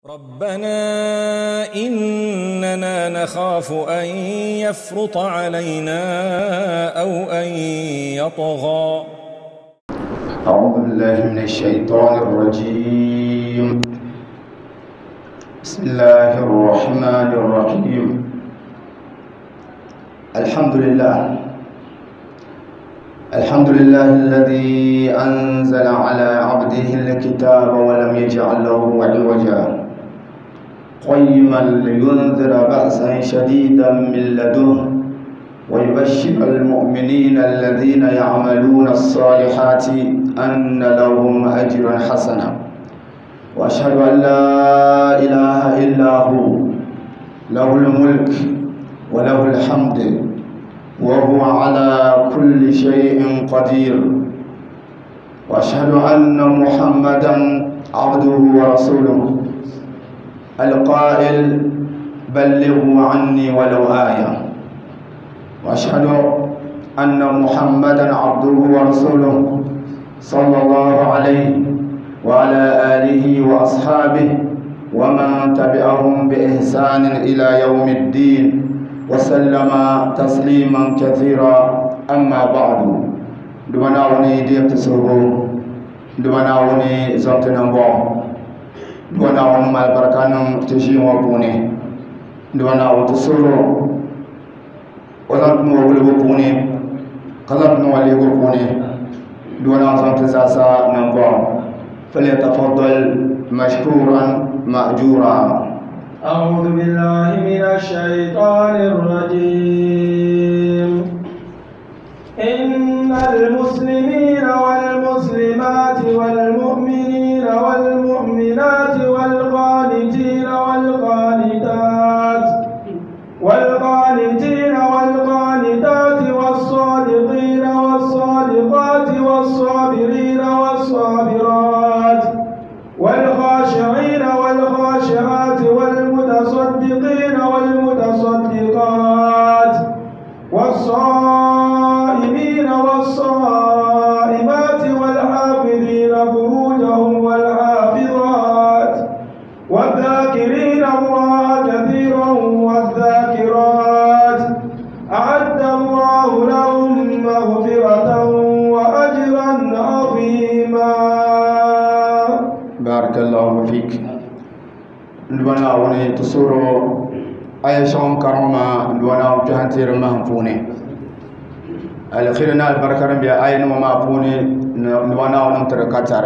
ربنا إننا نخاف أن يفرط علينا أو أن يطغى. أعوذ بالله من الشيطان الرجيم. بسم الله الرحمن الرحيم. الحمد لله، الحمد لله الذي أنزل على عبده الكتاب ولم يجعل له عوجا، قيما لينذر بأسا شديدا من لدنه ويبشر المؤمنين الذين يعملون الصالحات أن لهم أجرا حسنا. وأشهد أن لا إله إلا هو، له الملك وله الحمد وهو على كل شيء قدير. وأشهد أن محمدا عبده ورسوله القائل بلغوا عني ولو آية. وأشهد أن محمدا عبده ورسوله صلى الله عليه وعلى آله وأصحابه ومن تبعهم بإحسان إلى يوم الدين وسلم تسليما كثيرا. أما بعد، دمنا وني ديبتسوغو، دمنا وني زمتنبو، دمنا وني مال بركانم تشيمو بوني، دمنا وتسورو وزمتنو ولغو بوني، قزمتنو ولغو بوني، دمنا زمتزاسا نمبو. فليتفضل مشكورا مأجورا. أعوذ بالله من الشيطان الرجيم. إن المسلمين والمسلمات والمؤمنين والمؤمنات والقانتين والقانتات والقانتين والقانتات والصادقين والصادقات والصابرين والصابرات والخاشعين والخاشعات والمتصدقين والمتصدقات والصائمين والصائمات والحافظين فروجهم والحافظات والذاكرين الله كثيرا والذاكرات أعد الله لهم مغفرة وأجرا عظيما. بارك الله فيك. دوانا وني تصورو آية شون كرامة دوانا وجهنتير مهفوني الخيرنا البركة بيا آية نما فوني دوانا ونمتر كتر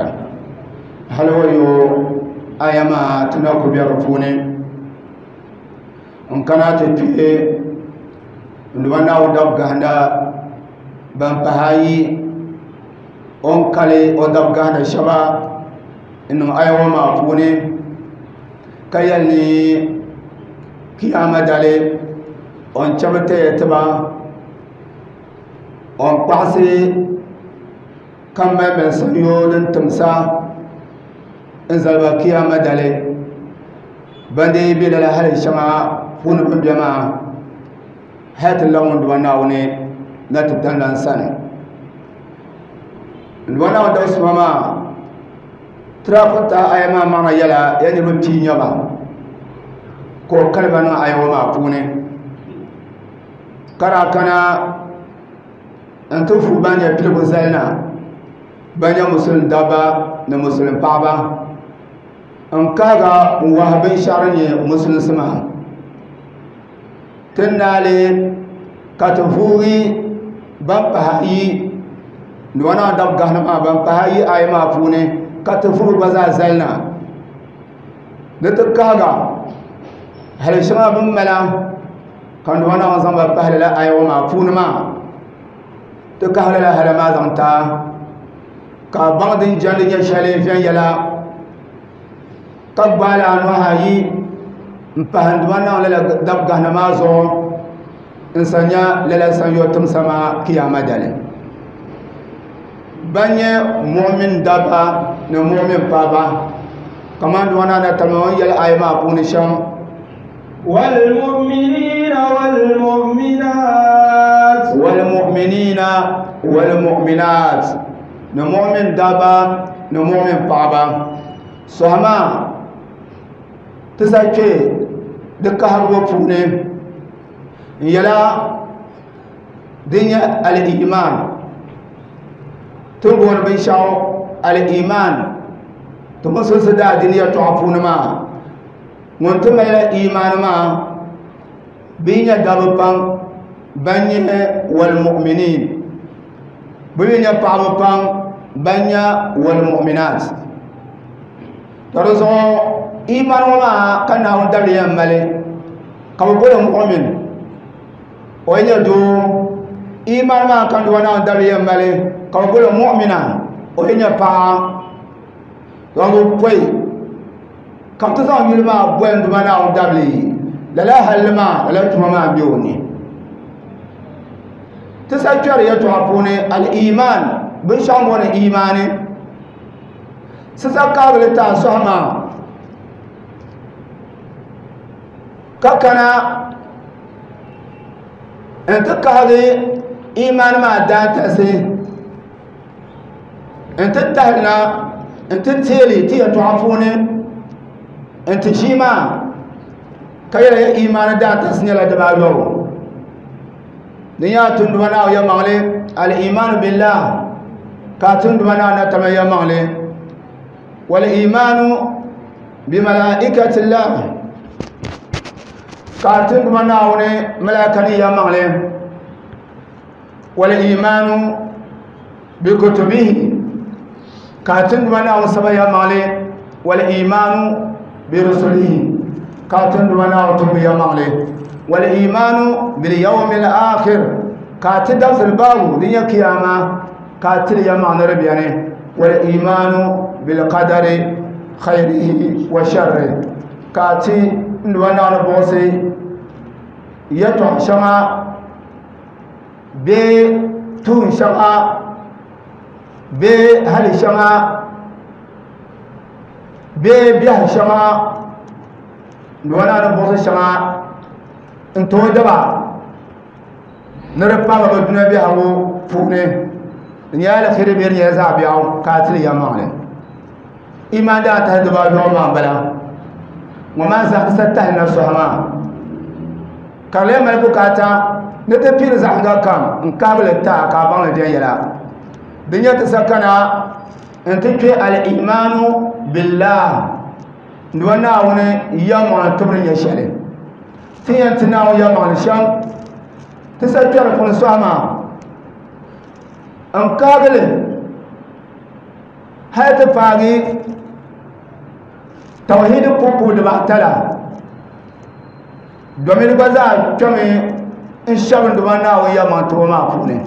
هل هو يو آية ما تناكو بيرفوني إن كانت تي دوانا ودب غندا بامبهاي أون كالي ودب غندا شبا إنه آية ما فوني كيالني كيامة دالي أون شبتة تبا أون قاسي كم من سيون تمسا إنزل كيامة دالي بندي بلا هل شما فون بجما هات اللون دواناوني نتبتن لانسان دوانا ودوس ماما ترافتا أيما مانا يلا يعني بمتي نيوما كو كلبنا أيوما ما فوني كرا كنا أنتو بانيا بلغو زلنا بانيا مسلم دابا نمسلم بابا أنكاغا وهبين شارني مسلم سما تنالي كتفوري بامبهاي نوانا داب غهنما بامبهاي أيما فوني كتفور بزا زلنا نتكاغا هل شما بملا كان وانا وزن بهل لا ايو ما فون ما تكهل لا هل ما زنتا كبعض جل جشالي في يلا كبال انو هاي فهند وانا ولا دب غنا ما زو انسانيا لا سان يوتم سما قيامة دال بني مؤمن دابا نمؤمن بابا كمان وانا نتمنى يلا اي ما فون شام. والمؤمنين والمؤمنات والمؤمنين والمؤمنات نمؤمن دابا نمؤمن بابا سهما Ti sa kpe di kahigibu puuni n yɛla din nyɛ al-iman. Ti ni booni binshɛɣu al-iman ti musulinsi daadiini yɛltɔɣa puuni maa, ŋun ti malila iman maa bɛ yi nyɛ dabba pam ban nyɛ wal-mu'minin, bɛ mi nyɛ paɣaba pam ban nyɛ wal-mu'minat. To di zuɣu iman ŋɔ maa ka Naawuni dabili yɛn mali ka bɛ boli mu'min, o yi nyɛ doo. Iman maa ka Naawuni dabili yɛn mali ka bɛ boli mu'mina, o yi nyɛ paɣa. To bɛ pɔi ka bɛ ti zaŋ yuli maa boli n Duuma Naawuni dabili, lala halli maa lala tuma maa m-be o ni. Ti sa kpɛri yɛltɔɣa puuni al-iman, binshɛɣu m-bɔni imaani. Sisa kaabili ti a sɔhi maa ka kana n-ti kahigi imaani maa daantalisi n-ti tahi na n-ti teeli ti yɛltɔɣa puuni n-ti ʒii maa ka yɛli ya imaani daantalisi nyɛla dibaayɔbu. Di nyɛla tunduma Naawuni yɛlimaŋli al-imaanu billah, ka tunduma Naawuni na tama yɛlimaŋli wal-imaanu bi malaikatillah, ka tunduma Naawuni malaika ni yɛlimaŋli wal-imaanu bi kutubihi, ka tunduma Naawuni saba yɛlimaŋli wal-imaanu bi rusulihi, ka tunduma Naawuni tumbu yɛlimaŋli wal-imaanu bil yawmil akhir, ka ti dabisili baabu din nyɛ kiyama ka tili yɛlimaŋli ni di beni wal-imaanu bil qadari khayrihi wa sharrihi, ka ti nduma Naawuni buɣisi yɛltɔɣa shɛŋa bee tuun shɛŋa bee hali shɛŋa bee biɛhi shɛŋa nduma Naawuni buɣisi shɛŋa n tooi daba ni di paagi bi dunia biɛhigu puuni, di nyɛla alheri bee di nyɛla zaɣ biɛɣu ka a tili yɛlimaŋli. Iman daa tahi dibaayɔbu maa m-bala. Ŋɔ maa zaa ti sa tahi na sɔhi maa ka di lee mali bukaata ni ti piiri zaɣ yiŋga kam n-kahigi li ti a ka a baŋ li viɛnyɛla. Di nyɛ ti sa kana nti kpe al-imaanu billah, Duuma Naawuni yɛlimaŋli tibu ni nyɛ shɛli. Ti yɛn ti Naawuni yɛlimaŋli shɛm ti sa kpɛri puuni sɔhi maa n-kahigi li hali ti paagi tawhidi pubu dibaata la, domin di gba zaa kpɛmi n-shɛbi n Duuma Naawuni yɛlimaŋli tibu maa puuni.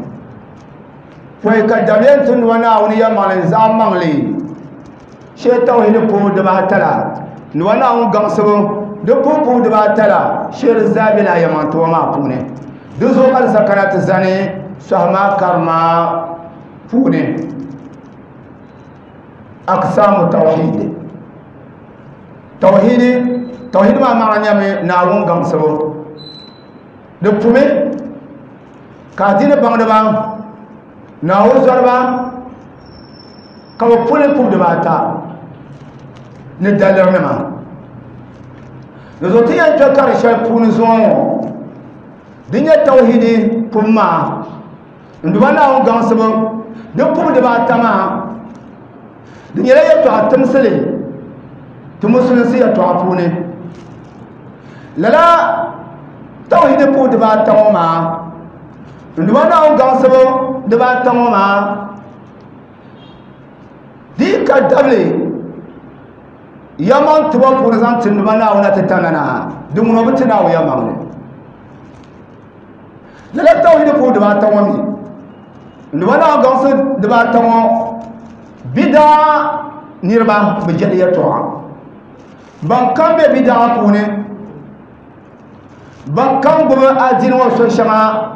Pɔi ka dabiɛm ti n Duuma Naawuni yɛlimaŋli zaɣ maŋli shee tawhidi pubu dibaata la, n Duuma Naawuni gaŋsibu di pubu dibaata la shee di zaa bela yɛlimaŋli tibu maa puuni. Di zuɣu ka di sa kana ti zani sɔhi maa karima puuni. Aqsaamu tawhid. Tawhidi, tawhidi maa maana nyɛmi Naawuni gaŋsibu. Di pumi ka adiini baŋdiba, Naawuni zɔriba ka bɛ puli pubu dibaata ni dalirinima. Di zuɣu ti yɛn kpe kari shɛli puuni zuŋɔ ŋɔ, di nyɛ tawhidi pubu maa. N Duuma Naawuni gaŋsibu di pubu dibaata maa, di nyɛla yɛltɔɣa timsili ti musulinsi yɛltɔɣa puuni. Lala tawhidi pubu dibaata ŋɔ maa, n Duuma Naawuni gaŋsibu dibaata ŋɔ maa, di yi ka dabili yɛlimaŋ tibo puuni zaŋ ti n Duuma Naawuni na ti tana na, di ŋuna bi ti Naawuni yɛlimaŋli. Lala tawhidi pubu dibaata ŋɔ mi, n Duuma Naawuni gaŋsi dibaata ŋɔ, bidaa niriba bi jɛli yɛltɔɣa. Ban kam be bidaa puuni, ban kam gbubi adiini ŋɔ so shɛŋa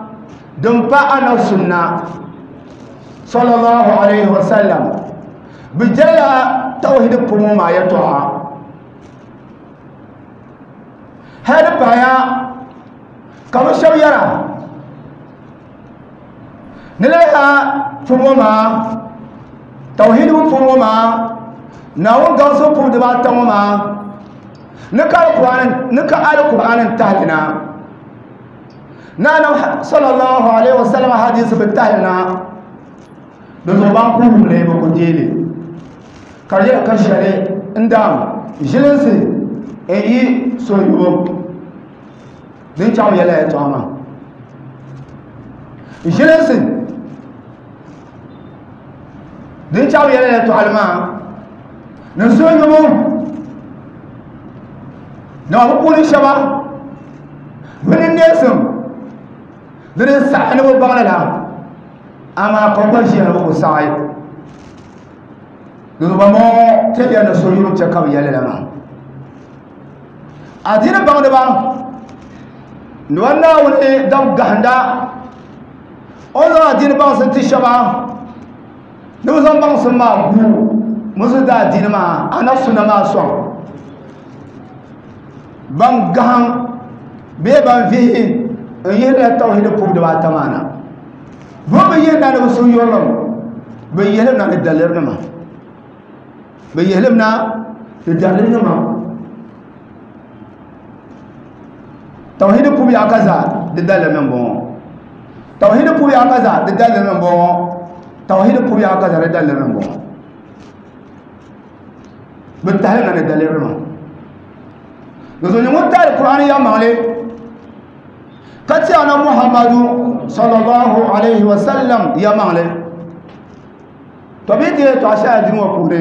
din pa Anabi sunna sallallahu alayhi wa sallam, bi jɛlila tawhidi pubu ŋɔ maa yɛltɔɣa. Hali di pahaya ka bɛ shɛba yɛra ni lala pubu ŋɔ maa, tawhidi pubu ŋɔ maa, Naawuni gaŋsibu pubu dibaata ŋɔ maa, Ni ka alkur'anin tahlina na sallallahu alaihi wasallam hadisi bi tahlina da zo ban ku ne ba ku jele kare ka share inda jilinsi e yi soyuwo din chaw yela ya toma jilinsi din chaw yela ya to alma na soyuwo na bu kuni shaba wani nesim din sahani bu bagla ama ko ko shi bu sai do ba mo te ya na soyuwo che ka yela ma adina bangda ba nwanna woni dam gahanda ozo adina bang sun ti shaba no zan bang sun ma gu musu da adina ma ana sunna ma so bang gahan be ban fi in yela tawhid pub da ba tamana bo be yela na su yolom be yela na dalir ma be yela na dalir ma tawhid pubi akaza de dalil men bon tawhid pubi akaza de dalil men bon tawhid pubi akaza de dalil men bon be tahl na de dalil men no ni mo tal qur'an ya male kati ana muhammadu sallallahu alaihi wasallam ya male to bi de to asha din wa pune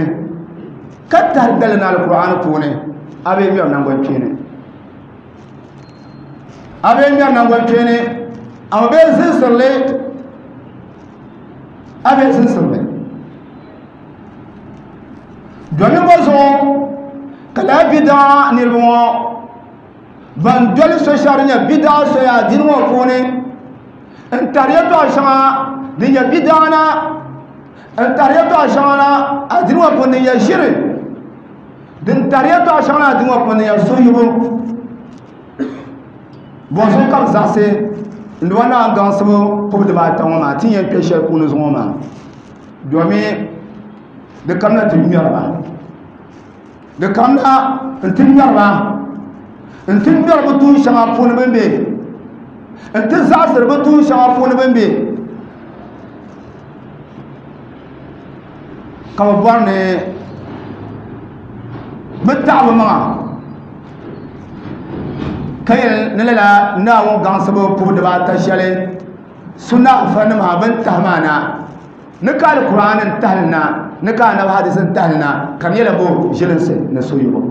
katar dalil na alquran pune abe mi na ngon kene abe mi na ngon kene abe sinsirle abe sinsirle domin ba so kala bid'a nirmo ban dole so sharinya bid'a so ya dinwo kone en tariya to shama dinya bid'a na en tariya to shama na adinwo kone ya shiri din tariya to shama na adinwo kone ya soyibo bon so kam zase ndwana gansu ko da ba tan ma tin yan peshe kunu zuwa ma domin da kamna tin miyar ba da kamna tin miyar ba in tin miyar ba tun shama funu bembe in tin zasir ba tun shama funu bembe kama borne bittabu ma kayel nilala nawo gansubu pubu ba ta shale sunna fanima ban tahmana nikal qur'anin tahlna nika na hadisin tahlna kam yela bo jilinse na soyubo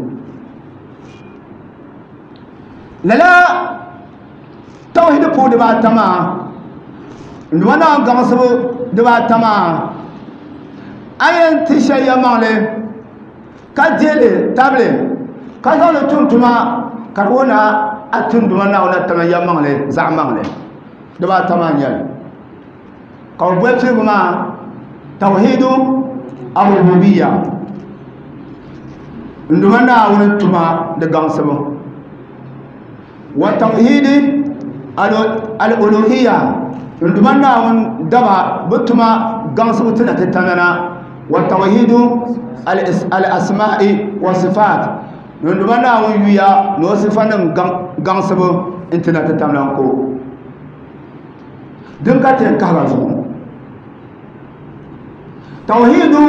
lala tawhid pubu ba tama ndwana gansubu ba tama ayen tisha male ka dele table ka zalo tuntuma karona atun duma na wala tama yamangle zamangle daba tamanyal ka bwepse ma tawhidu ar-rububiyya nduma na wala tuma de gansabo wa tawhidi al-uluhiyya nduma na wala daba butuma gansabo tana tanana wa tawhidu al-asma'i wa sifat nduma na wala yuya no sifanin gansabo intina ta tamlan ko din ka tin ka zo tauhidu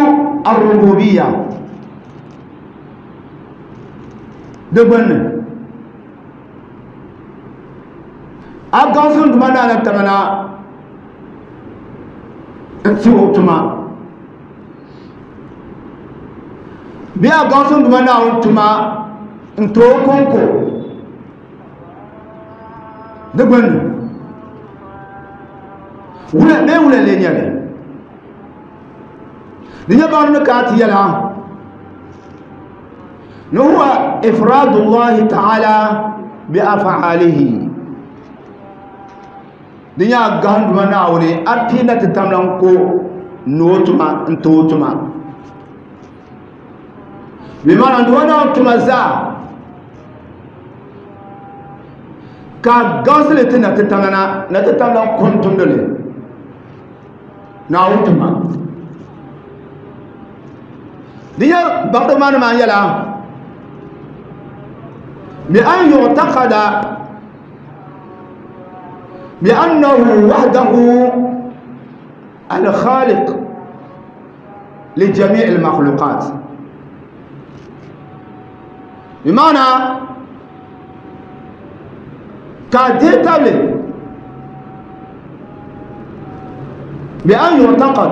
ar-rububiyya de bonne a gansun duma na na tamana nti otuma bi a gansun duma na otuma nto konko de bonne wula be wula le nyale ni nya ba ka ti yala هو إفراد الله تعالى بأفعاله دنيا غاند مناوني أبينا تتملنكو نوتما انتوتما بمعنى دوانا تمزا ka gansile tɛ na tɛ tamlana na tɛ tamlan kuntum dole na wutuma dinya bagdo manu ma yala بأن يعتقد بأنه وحده الخالق لجميع المخلوقات. بمعنى كديتالي بأن يعتقد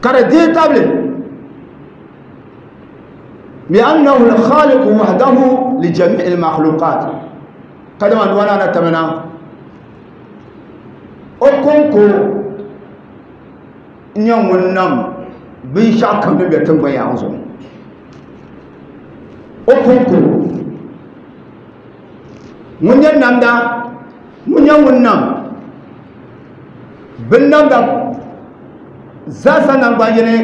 كديتالي بأنه الخالق وحده لجميع المخلوقات. كما أنوانا نتمنى أكونكو نيوم بنشاك من بيتم بيانزو أكونكو من ينام دا من ينام بنام دا زاسا نامبانيني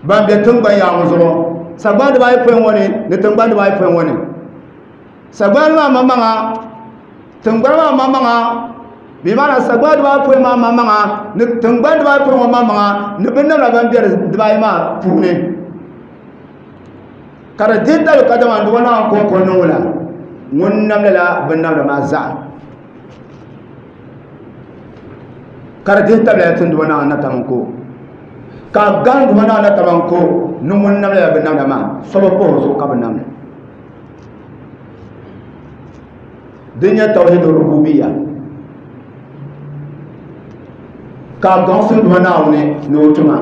بان بيتم بيانزو sagbani dibaayi pɔin ŋɔ ni ni tingbani dibaayi pɔin ŋɔ ni sagbani maa maŋmaŋa tingbani maa maŋmaŋa bi maana sagbani dibaayi pɔin maa maŋmaŋa ni tingbani dibaayi pɔin ŋɔ maŋmaŋa ni binnamda ban bɛ dibaayi maa puuni ka di dihi tali ka dama duba naan kɔŋko niŋ la ŋun namda la binnamda maa zaa ka di dihi tabila tin duba naan na tam ko ka gan duba naan na tam ko ni ŋun namda la binnamda maa soba kpɔhi zuɣu ka bi namda din nyɛ tawhid rububiyya ka gaŋsi duba naawuni ni o tuma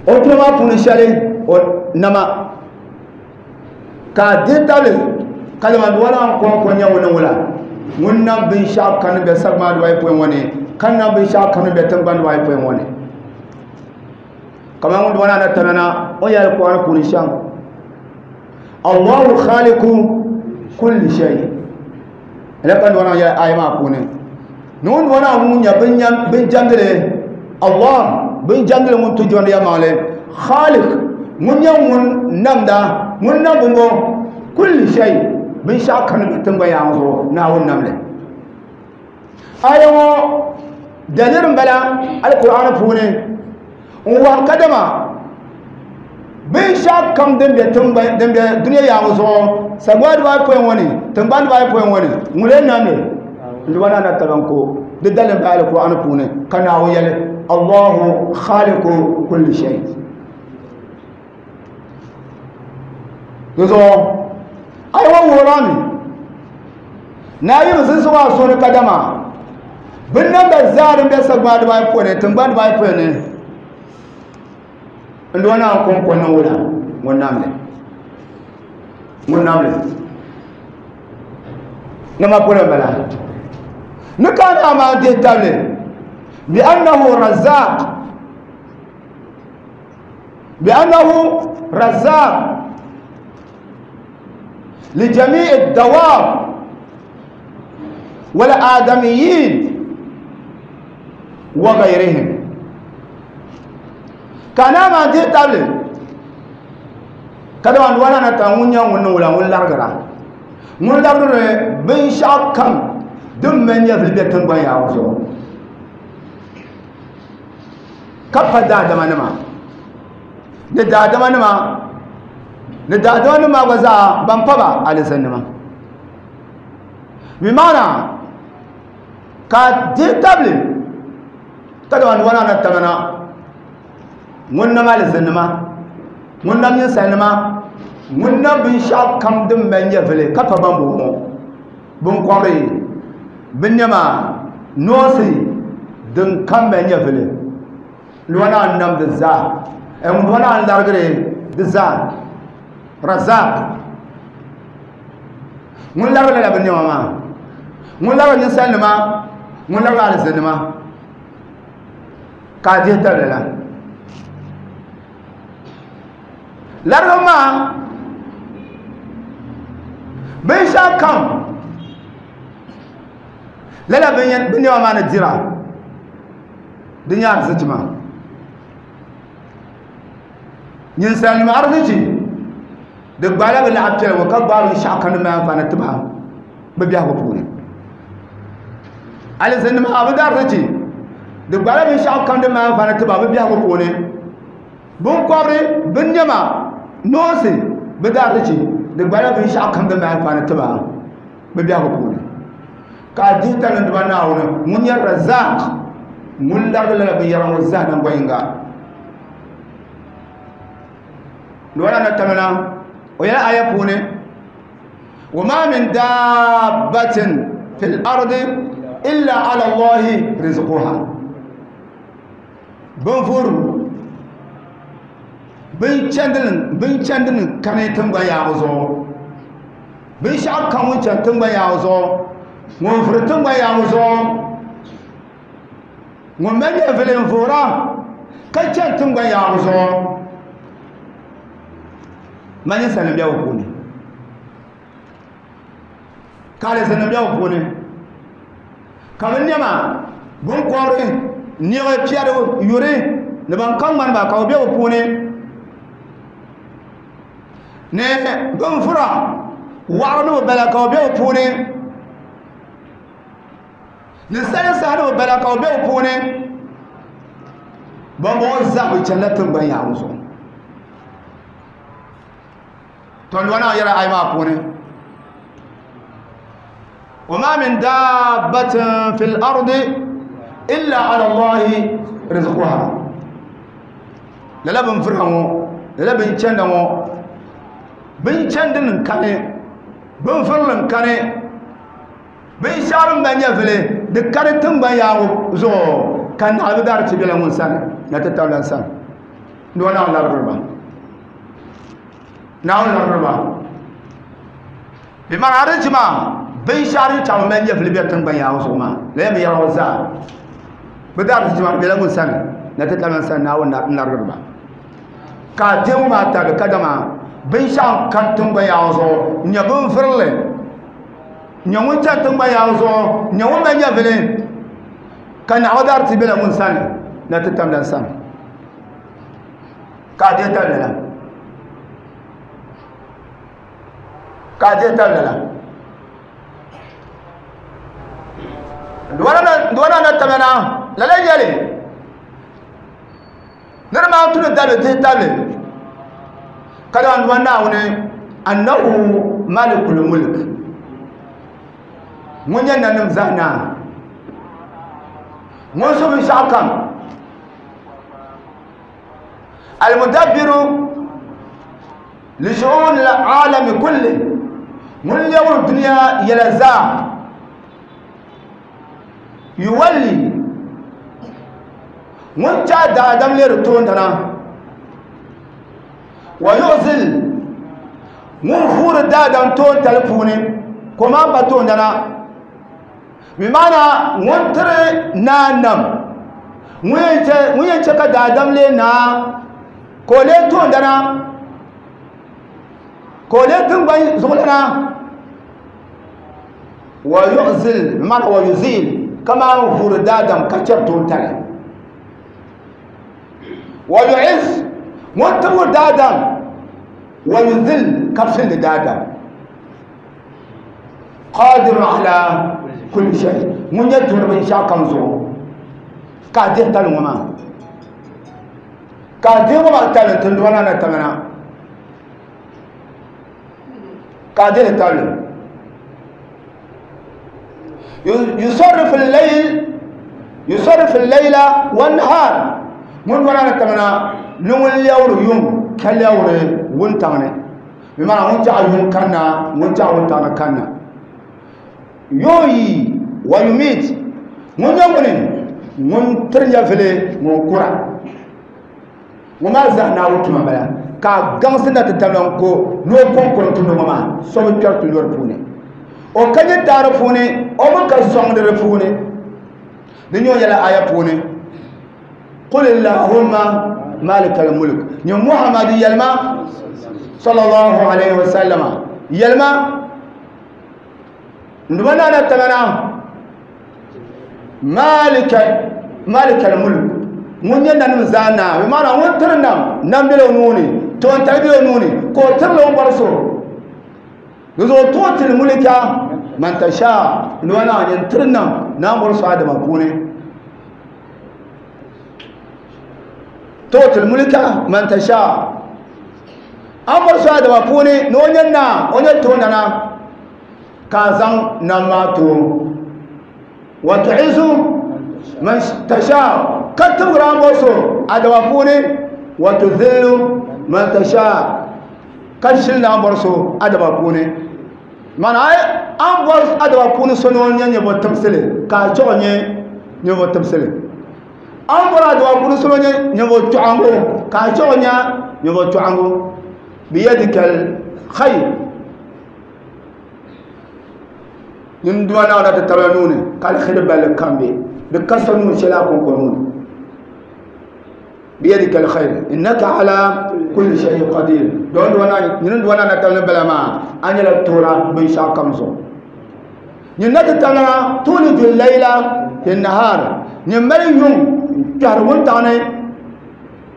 o tuma maa puuni shɛli o nama ka di tabili kalima duba naan kɔŋko nyɛ ŋuni wula ŋun nam binshɛɣu kani bɛ sagbana dibaayi pɔin ŋɔ ni ka nam binshɛɣu kani bɛ tingbani dibaayi pɔin ŋɔ ni kamar ŋun duba naan tamana o yɛli Qur'an puuni shɛm Allahu khaliqu kulli shay la kan duba naan yɛli aya maa puuni ni ŋun duba naan ŋun nyɛ bin jɛmdili Allah bin jɛmdili ŋun tu jɔndi yɛlimaŋli khaliq ŋun nyɛ ŋun namda ŋun nam bimbo kulli shay binshɛɣu kani bɛ tingbani yaɣa zuɣu Naawuni namli aya ŋɔ daliri n bala Alqur'an puuni n wahi kadama binshɛɣu kam din bɛ tingbani din bɛ duniya yaɣa zuɣu sagbana dibaayi pɔin ŋɔ ni tingbani dibaayi pɔin ŋɔ ni ŋun lee namli n duba naa na tabanko di daliri bala Alqur'an puuni ka Naawuni yɛli Allahu khaliqu kulli shay di zuɣu ayi ŋɔ wuhirami Naawuni zinsigu a suhuri kadama binnamda zaa din bɛ sagbana dibaayi pɔin ni tingbani dibaayi pɔin ni n duba naan kɔŋko niŋ wula ŋun namli nama polo n bala ni ka naa maa dihi tabili bi annahu razzaq لجميع الدواب والآدميين وغيرهم كان ما دي تابل كدو ان وانا نتا ŋun nyɛ ŋun niŋ wula ŋun larigira ŋun larigiri binshɛɣu kam din mali nyɛvili bɛ tingbani yaɣa zuɣu ka pa daadama nima ni daadama nima gba zaa ban pa ba alizannima bi maana ka dihi tabili ka dama wana na tamana ŋun nam alizannima ŋun nam ninsalinima ŋun nam binshɛɣu kam din mali nyɛvili ka pa ban boŋɔ binkɔbiri binnɛma noosi din kam mali nyɛvili wana n nam di zaa wana n larigiri di zaa razaq ŋun larigi lala binnɛma maa ŋun larigi ninsalinima ŋun larigi alizannima ka a dihi tabili la larigi maa binshɛɣu kam lala binnɛma maa ni dira di nyɛ arzichi maa ninsalinima arzichi di gbaala bi laɣa piɛla ŋɔ ka gbaai binshɛɣu kam din mali anfaani ti ba bi biɛhigu puuni alizannima bi di arzichi Di gbala binshaɣu kam din mali anfaani tiba bɛ biɛhigu puuni. Binkɔbiri, binnɛma, noonsi, bɛ daarizichi, di gbala binshɛɣu kam din mali anfaani tiba bɛ biɛhigu puuni. Ka a dihi tali n-duba Naawuni ŋun nyɛ Razzaaq, ŋun larigi lala binyɛra ŋɔ zaa naŋgban yiŋga. Lɔra na tamina o yɛla aya puuni wa ma min dabbatin fil ardi illa ala Allahi rizquha. Binvuri binchandini kani tingbani yaaŋɔ zuɣu, binshɛɣu kam ŋun chani tingbani yaaŋɔ zuɣu, ŋun vuri tingbani yaaŋɔ zuɣu, ŋun mali nyɛvili n vuhira ka chani tingbani yaaŋɔ zuɣu, mali ninsalinima be bɛ puuni, ka alizinnim be bɛ puuni, ka bɛ nɛma binkɔbiri niɣi piɛri yuri ni ban ka ŋmani ba ka bɛ be bɛ puuni, ni binvura waɣiri ni bɛ bala ka bɛ be bɛ puuni, ni salinsahi ni bɛ bala ka bɛ be bɛ puuni. Bambɔŋɔ zaa bɛ chanila tiŋgbani yaaŋɔ zuɣu. To n wana yɛla ayi maa puuni, wa ma min dabbatin fil ardi illa ala Allahi rizquha. Lala binvura ŋɔ, lala binchanda ŋɔ, binchandini n-kani, binvurili n-kani, binshɛɣu din mali nyɛvili di kani tiŋgbani yaaŋɔ zuɣu ka naɣila bɛ daarichi bela ŋun sani na ti tabila n sani. Ni o naɣ larigiri ba, Naawuni larigiri ba. Bɛ maana arichi maa binshɛɣu din chaŋ mali nyɛvili be tiŋgbani yaaŋɔ zuɣu maa, lala binyɛra ŋɔ zaa bɛ daarichi maa bela ŋun sani na ti tabila n sani. Naawuni larigiri ba. Ka a deemu maa tabili kadama binshɛɣu n kani tiŋgbani yaaŋɔ zuɣu n-nyɛ binvurili, n-nyɛ ŋun chani tiŋgbani yaaŋɔ zuɣu, n-nyɛ ŋun mali nyɛvili ka naɣila daarichi bela ŋun sani na ti tabila n sani. Ka a deei tali lala, ka a deei tali lala. Duwana na tamana lala yɛli ni di maa tuni dali dihi tabili ka daa duwa Naawuni annahu malikul mulk, ŋun nyɛ nanim zaa naa, ŋun su binshɛɣu kam, almudabbiru li shu'un al-alami kulli, ŋun lɛbiri dunia yɛla zaa, yuwalli, ŋun chaai daadam leeri toondana, wa yu'zil, ŋun vuuri daadam toontali puuni ka o maa pa toondana, bi maana ŋun tiri naa nam, ŋun yɛn chɛ ka daadam lee naa ka o lee toondana, ka o lee tiŋgbani zuɣulana, wa yu'zil, bi maana wa yuzil, ka maan vuuri daadam ka chɛri toontali, wa yu'iz, ŋun tibgiri daadam, wa yuzil, ka fildi daadam, qadir ala kulli shay, ŋun nyɛ duri binshɛɣu kam zuɣu, ka a dihi tali ŋɔ maa, ka a dihi ŋɔ maa tali n-ti niriba na tamana, ka a dihi tali. Yusarrifu al-layl, yusarrifu al-layla wan-nahar, ŋun niriba na tamana ni ŋun lɛbiri yuŋ ka lɛbiri wuntaŋ ni, bi maana ŋun chaɣ yuŋ kanna, ŋun chaɣ wuntaŋ ni kanna. Yuhyi wa yumit, ŋun nyɛ ŋuni ŋun tiri nyɛvili ŋun kura, ŋun maa zaa Naawuni tuma m-bala, ka a gaŋsi na ti tabila n-ko ni o kɔŋko n-tumdi ŋɔ maa, so bi kpɛri ti lɔri puuni, o ka nyɛ taari puuni, o mi ka sɔŋdi di puuni. Di nyɛ o yɛla aya puuni, qul illahumma malikal mulk, nyɛ Muhammadu yɛlima sallallahu alaihi wasallama yɛlima nduma naana tamana malikal mulk, ŋun nyɛ nanim zaa naa, bi maana ŋun tiri nam, nam bela o nuu ni, toontali bela o nuu ni, ka o tirili o ni bɔri so. Di zuɣu tuɣutil mulika man tasha, nduma naa nyɛ n tiri nam, naa bɔri so Adama puuni. Tu'til mulka man tasha. An bɔri so adama puuni ni o nyɛ naa, o nyɛ toondana, ka a zaŋ nam maa ti o. Wa tu'izu man tasha, ka tibigiri an bɔri so adama puuni. Wa tudhillu man tasha, ka shilindi an bɔri so adama puuni. Mana an bɔri adama puuni so ni o nyɛ ninvuɣ tibisili, ka a chɛ o nyɛ ninvuɣ tibisili. An bɔri adama puuni so ni o nyɛ ninvuɣ chɔɣingu, ka a chɛ o nyɛ ninvuɣ chɔɣingu. Biyadikal khayr, nyin Duuma Naawuni ti tabila nuu ni ka alheri balli kam be di ka so nuu shɛli a kɔŋko nuu ni. Biyadikal khayr innaka ala kulli shay'in qadir. Don Duuma Naawuni, nyin Duuma Naawuni tabila bala maa, a nyɛla toora binshɛɣu kam zuɣu. Nyin na ti tabila tuuliju layla fi nahar, nyin mali yuŋ n-kpɛhiri wuntaŋ ni,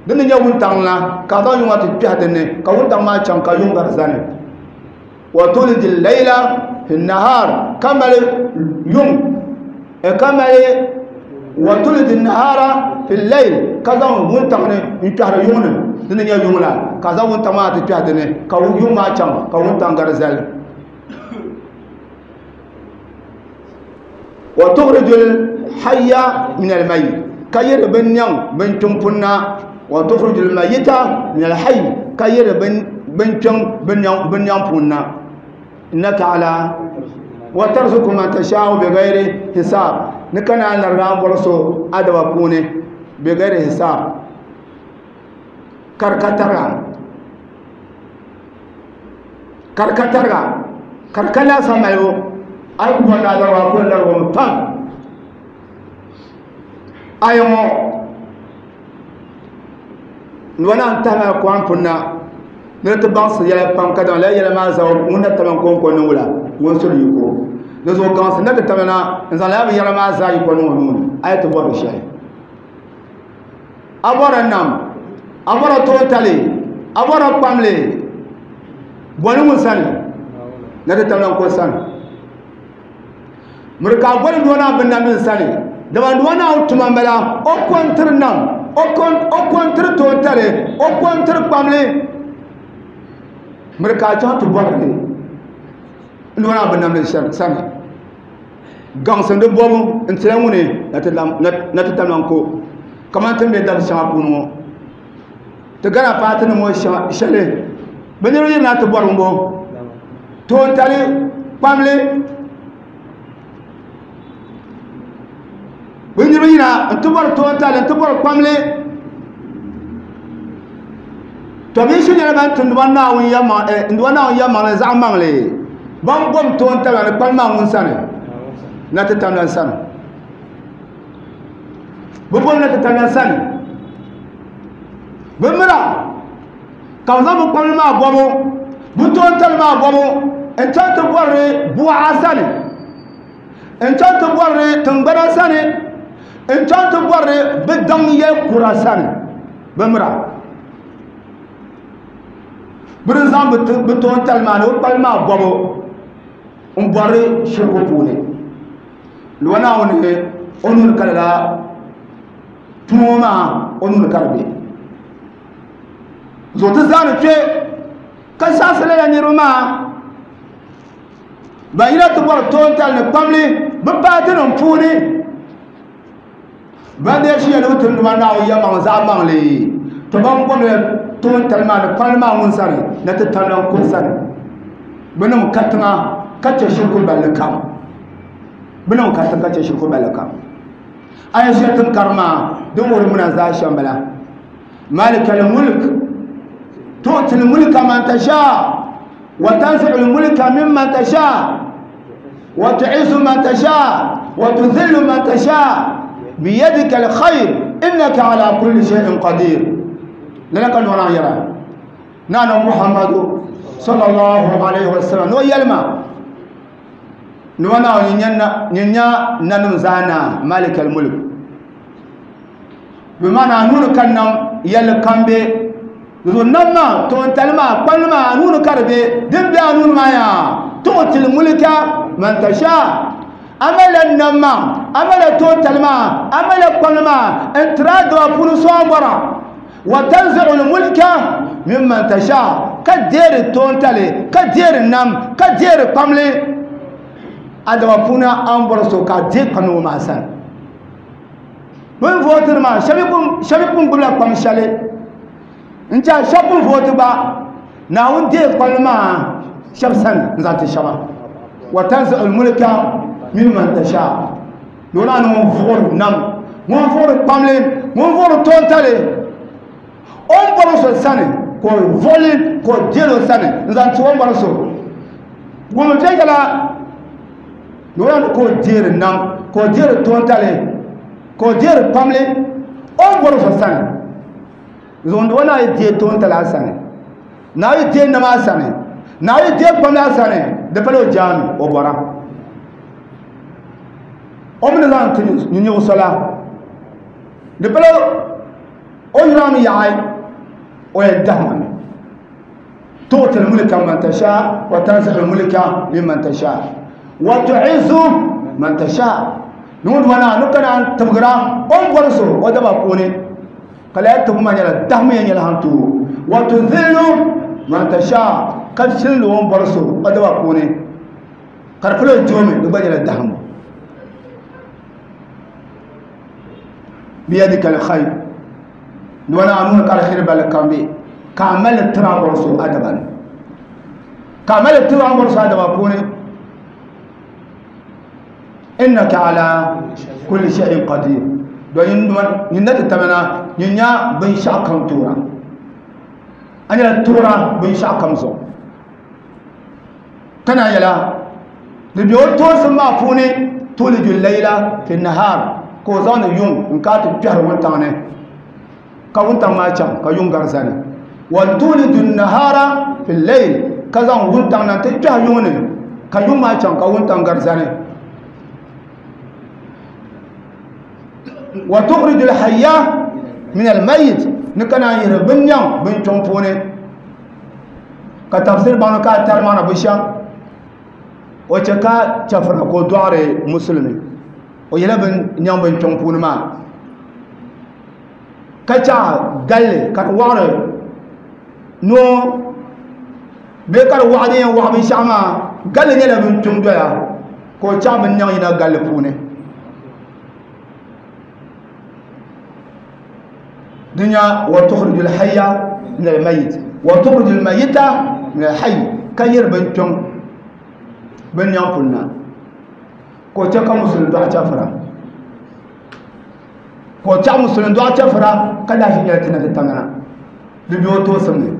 din ni nyɛ wuntaŋ la ka a zaŋ yuŋ maa ti kpɛhi din ni ka wuntaŋ maa chaŋ ka yuŋ gari zani. Wa tuliju layla fi nahar, ka mali yuŋ, ka mali wa tuliju nahara fi layl, ka zaŋ wuntaŋ ni n-kpɛhiri yuŋ ni, din ni nyɛ yuŋ la ka a zaŋ wuntaŋ maa ti kpɛhi din ni ka yuŋ maa chaŋ ka wuntaŋ gari zali. Wa tukhrijul hayya min al-mayyit, ka yiri bin niɛŋ bin kpiŋ punna. Wa tukhrijul mayyita min al-hayy, ka yiri bin kpiŋ bin niɛŋ punna. Innaka ala wa tarzuqu man tasha'u bighayri hisab, ni ka naan larigi an bɔri so adaba puuni bighayri hisab, karikatariga karikatariga karika laasabu malibu. A yi ku bɔri ni a larigi a ku larigimi pam. Aya ŋɔ nua naan tahi maa Kuran puni na ni di ti baŋsi yɛla pam, ka dama lala yɛla maa zaa ŋun na tamla n-kɔŋko ni wula ŋun suli yiko. Di zuɣu gaŋsi na ti tamla na n-zaŋ lala binyɛra maa zaa yiko niŋ o nuu ni, a yi ti bɔri di shɛli. A bɔra nam, a bɔra toontali, a bɔra kpamli, bɔli ŋun sani na ti tamla n-ko sani. Miri ka a bɔli nua naa binnamdi sani, dama nua naa tuma m-bala, o kɔntiri nam, o kɔntiri toontali, o kɔntiri kpamli. Miri ka a chaŋ ti bɔri li nua naa binnamdi sani. Gaŋsi di bɔbu n-tila ŋuni na ti tamla n-ko. Kamani ti ni be dabisi shɛŋa puuni ŋɔ, ti gana paati nim ŋɔ shɛli bɛ niriba yirina ti bɔri ŋɔ toontali kpamli, bɛ niriba yina n-ti bɔri toontali n-ti bɔri kpamli. To bɛ shi nyɛla ban tumdi ba Naawuni yɛlimaŋli zaɣ maŋli, ban bom toontali ni kpamli maa ŋun sani na ti tamla sani. Bɛ bom na ti tamla sani. Bɛ mira ka bɛ zaŋ bɛ kpamli maa bɔbu, bɛ toontali maa bɔbu n-chaŋ ti bɔri buɣa sani, n-chaŋ ti bɔri tiŋgbana sani, n-chaŋ ti bɔri bɛ daŋ yɛl kura sani. Bɛ mira bɛ di zaŋ bɛ toontali maa ni bɛ kpali maa bɔbu n-bɔri shirigu puuni. Luwa Naawuni o nuu ni ka lala tuma ŋɔ maa o nuu ni ka di be. Zuɣu ti zaani kpe ka saɣisi lala niriba maa ban yina ti bɔri toontali ni kpamli bɛ paatinim puuni. Ban dee shiya ni bɛ tumdi ma Naawuni yɛlimaŋli zaɣ maŋli, to ban bɔmla toontali maa ni kpamli maa ŋun sani na ti tamla n-kuri sani. Bɛ niŋ katiŋa ka chɛ shiriku balli kam. Bɛ niŋ katiŋa ka chɛ shiriku balli kam. Aya shɛli ti ni karim maa din wuhiri muna zaa shɛm bala. Malikal mulk tu'til mulka man tasha wa tanzi'ul mulka mimman tasha wa tu'izzu man tasha wa tudhillu man tasha biyadika alkhayr innaka ala kulli shay'in qadir. Lala ka nɔna yɛra naana Muhammadu sallallahu alaihi wasallam no yɛlima nɔna nyin nya nanim zaa na malikal mulk, bi maana nuu ka nam yɛlli kam be zuɣu nam maa toontali maa kpalli maa nuu ka di be din be a nuu maa yaa tu'til mulka man tasha. A malila nam maa, a malila toontali maa, a malila kpalli maa n tiri a daba puuni so a bɔra, Wa tanzi'u al-mulka mimman tasha ka deeri toontali ka deeri nam ka deeri kpamli adama puuni an bɔri so ka dee kpamli ŋɔ maa sani bin vootiri maa shɛba pun gbubila kpam shɛli n tiɛha shɛba pun vooti gba Naawuni deei kpamli maa shɛba sani n zaŋ ti shɛba. Wa tanzi'u al-mulka mimman tasha ni o ni ŋun vuɣiri nam ŋun vuɣiri kpamli ŋun vuɣiri toontali o ni bɔri so sani ka o vuɣili ka o deeli o sani n zaŋ ti o ni bɔri so ŋun viɛnyɛla ni o ni ka o deeri nam ka o deeri toontali ka o deeri kpamli o ni bɔri so sani zuŋdi o na yi deei toontali a sani na yi deei nam a sani na yi deei kpamli a sani di pala o jaami o bɔra o mi ni zaŋ ti nyuɣu so la di pala o yurami yaɣi o yɛn dahima mi tu'ti al-mulka man tasha wa tanzi'u al-mulka mimman tasha wa tu'izzu man tasha ni ŋun wana ni kana tibgira o ni bɔri so o daba puuni ka laya tibu maa nyɛla dahima yɛn nyɛla han tooi wa tuzillu man tasha ka filli o ni bɔri so o daba puuni ka di pala o joomi di gba nyɛla dahima biyadika al-khayr ni wana a nuuni ka alheri balli kam be ka a mali tiri a bɔri so a daba ni ka a mali tiri a bɔri so a daba puuni innaka ala kulli shay'in qadir don nyin na ti tamana nyin nya binshɛɣu kam toora a nyɛla toora binshɛɣu kam zuɣu kana yɛla di be o toosim maa puuni tuliju layla fi nahar ka o zaŋdi yuŋ n ka ti kpɛhiri wuntaŋ ni ka wuntaŋ maa chaŋ ka yuŋ gari zani wa tuliju nahara fi layl ka zaŋ wuntaŋ na ti kpɛhi yuŋ ni ka yuŋ maa chaŋ ka wuntaŋ gari zani wa tukhriju al-hayya min al-mayyit ni kana yiri bin nyaŋ bin kpiɔŋ puuni ka tafsir baŋ ka tari maana bu shɛm o chɛ ka chɛfura ka o dɔɣiri musulimi o yɛla bin nyaŋ bin kpiɔŋ puuni maa ka chaɣa galli ka di waɣiri noo bee ka di waɣa din yɛn waɣa binshaɣu maa galli nyɛla bin kpiɔŋ doya ka o chaɣa bin nyaŋ yina galli puuni dunya wa tukhriju al-hayya min al-mayyit wa tukhriju al-mayyita min al-hayy ka yiri bin kpiɔŋ bin nyaŋ puli na ka o chɛ ka musulin dɔɣi chɛfura ka o chaɣ musulin dɔɣi chɛfura ka lahi nyɛla ti na ti tamina di bɛ o toosim ni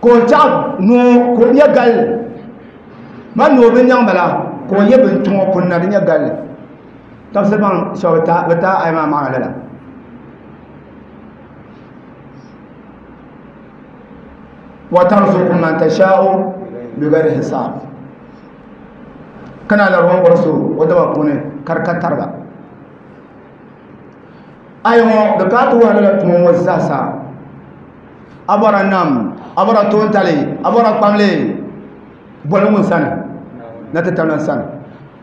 ka o chaɣ noo ka o nyɛ galli ma noo bin nyaŋ bala ka o nyɛ bin kpiɔŋ o puli na di nyɛ galli tafsir baŋ shɛba bi taa ayi maa maana lala wa tarzuqu man tasha'u bighayri hisab kana la ruwan bɔri so o daba puuni ka di ka tariga ayi ŋɔ di kana ti wuhi lala tuma ŋɔ zaasa a bɔra nam a bɔra toontali a bɔra kpamli boli ŋun sani na ti tamla sani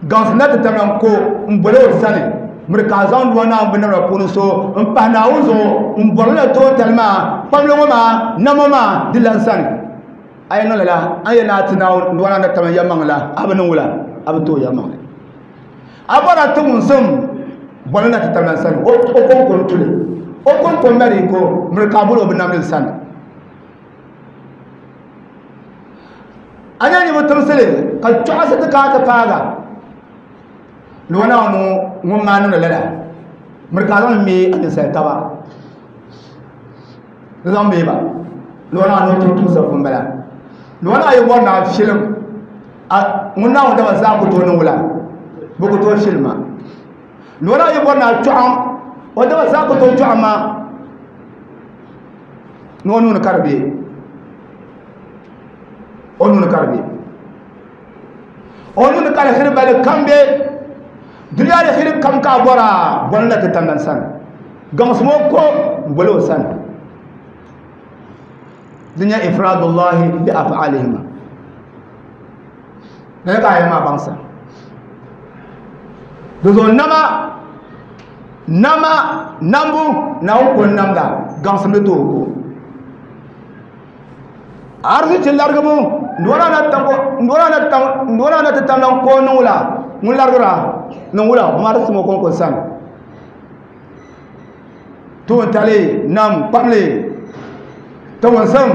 gaŋsi na ti tamla ko n boli o sani miri ka a zaŋ dua naawuni binnamda puuni so n pahi naawuni zuɣu n bɔri la toontali maa kpamli ŋɔ maa nam ŋɔ maa di lan sani a yi niŋ lala a yɛn naa ti naawuni dua naawuni tamla yɛlimaŋli la a bi niŋ wula a bi tooi yɛlimaŋli a bɔra ti ŋunsim boli na ti tamla sani o konko n tuli o konko n mali ko miri ka a boli o binnamdili sani a nyɛ nibu timsili ka chɔɣisi ti kana ti paaga ni o naawuni ŋun maa niŋdi lala miri ka a zaŋ me a ninsali taba di zaŋ me ba ni o naawuni tum tumsa pun bala ni o naa yi bɔri ni a filim ŋun naawuni dama zaa ku tooi niŋ wula bi ku tooi filim ma ni o naa yi bɔri ni a chɔɣim o dama zaa ku tooi chɔɣim ma ni o nuuni ka di be o nuuni ka di be o nuuni ka alheri bali kam be dunia alheri kam ka a bɔra bɔli na ti tamdan sani gaŋsim o ko n boli o sani di nyɛ ifradullahi bi af'alihima lala ka a yɛli maa baŋsa di zuɣu nama Nama nambu naawuni ko n-namda gaŋsim ni tooi ko. Arzichi larigibu n-dɔna na ti tamla ko niŋ la ŋun larigira niŋ wula marisi mo konko sani. Tuuntali nam kpamli tawunsam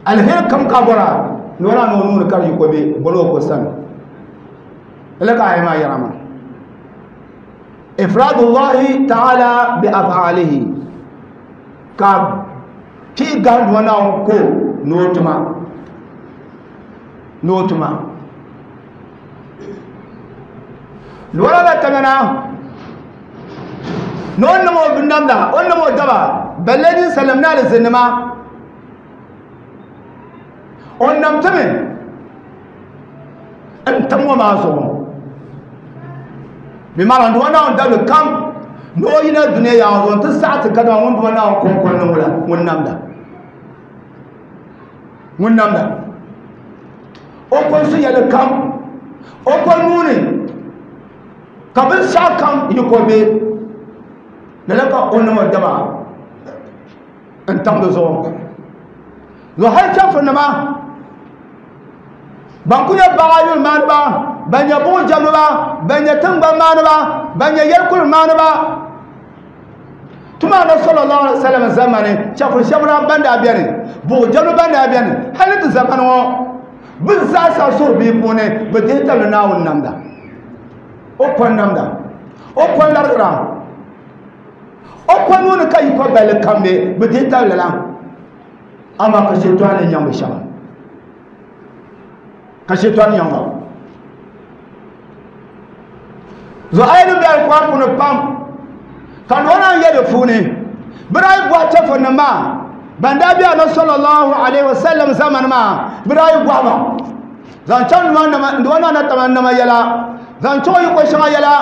alheri kam ka bɔra n-dɔna na o nuuni ka di yi ko be bɔla o ko sani. Lala ka aya maa yɛra maa. Ifradullahi ta'ala bi af'alihi ka pii gahindi ŋɔ Naawuni ko ni o tuma ni o tuma lɔra la tamana ni o niŋ o binnamda o niŋ o daba balle ninsalinima ni alizinnima o nam timi n tam ŋɔ maa zuɣu bi maana n duuma Naawuni dabili kam ni o yina dunia yaŋ zuɣu n ti saɣi ti kadama ŋun duuma Naawuni kɔŋko niŋ la ŋun namda ŋun namda o ko n su yɛli kam o ko nuuni ka binshɛɣu kam yi ko be lala ka o niŋ o daba n tam di zuɣu zuɣu hali chɛfurinima ban ku nyɛ baɣa yuli maaniba ban nyɛ buɣu jɛmdiba ban nyɛ tiŋgbani maaniba ban nyɛ yɛlikuli maaniba tuma na sallallahu alaihi wasallam zamani chɛfuri shɛba daa ban daa bɛni buɣu jɛmdi ban daa bɛni hali ti zamani ŋɔ bɛ zaasa suhu bia puuni bɛ dihi tabili Naawuni namda o kɔn namda o kɔn larigira o kɔn nuuni ka yi kɔ balli kam be bɛ dihi tabili la amaa ka shetani nyaŋ bɛ shɛba ka shetani nyaŋ ba zuɣu ayi ni bɛ alikuran puuni pam ka noo naan yɛ di puuni bɛ daa yi bɔhi chɛfurinim maa ban daa be Annabi sallallahu alaihi wasallam zamani maa bɛ daa yi bɔhi ba zaŋ chaŋ nduwa naa na tama nama yɛla zaŋ chaŋ o yiko shɛŋa yɛla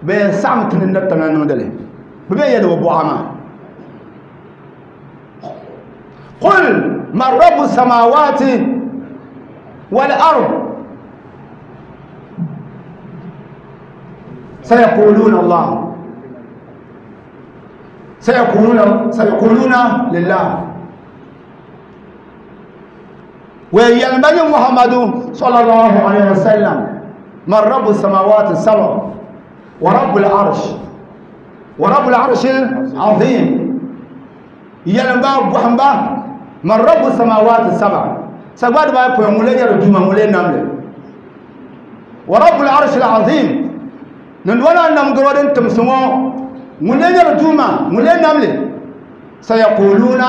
bɛ yɛn saɣim ti ni na tama niŋdili bɛ bɛ yɛli o bɔɣa maa qul man rabbu samawati wal ard sayaquluna Allah sayaquluna lillah wa yalmani Muhammadu sallallahu alaihi wasallam man rabbu samawati sab'a wa rabbul arsh wa rabbul arshil azim yalma buhamba man rabbu samawati sab'a sagba ba po ngule yar duma ngule namle wa rabbul arshil azim nan wala nam gorodin tumsumo ngule yar duma ngule namle sayaquluna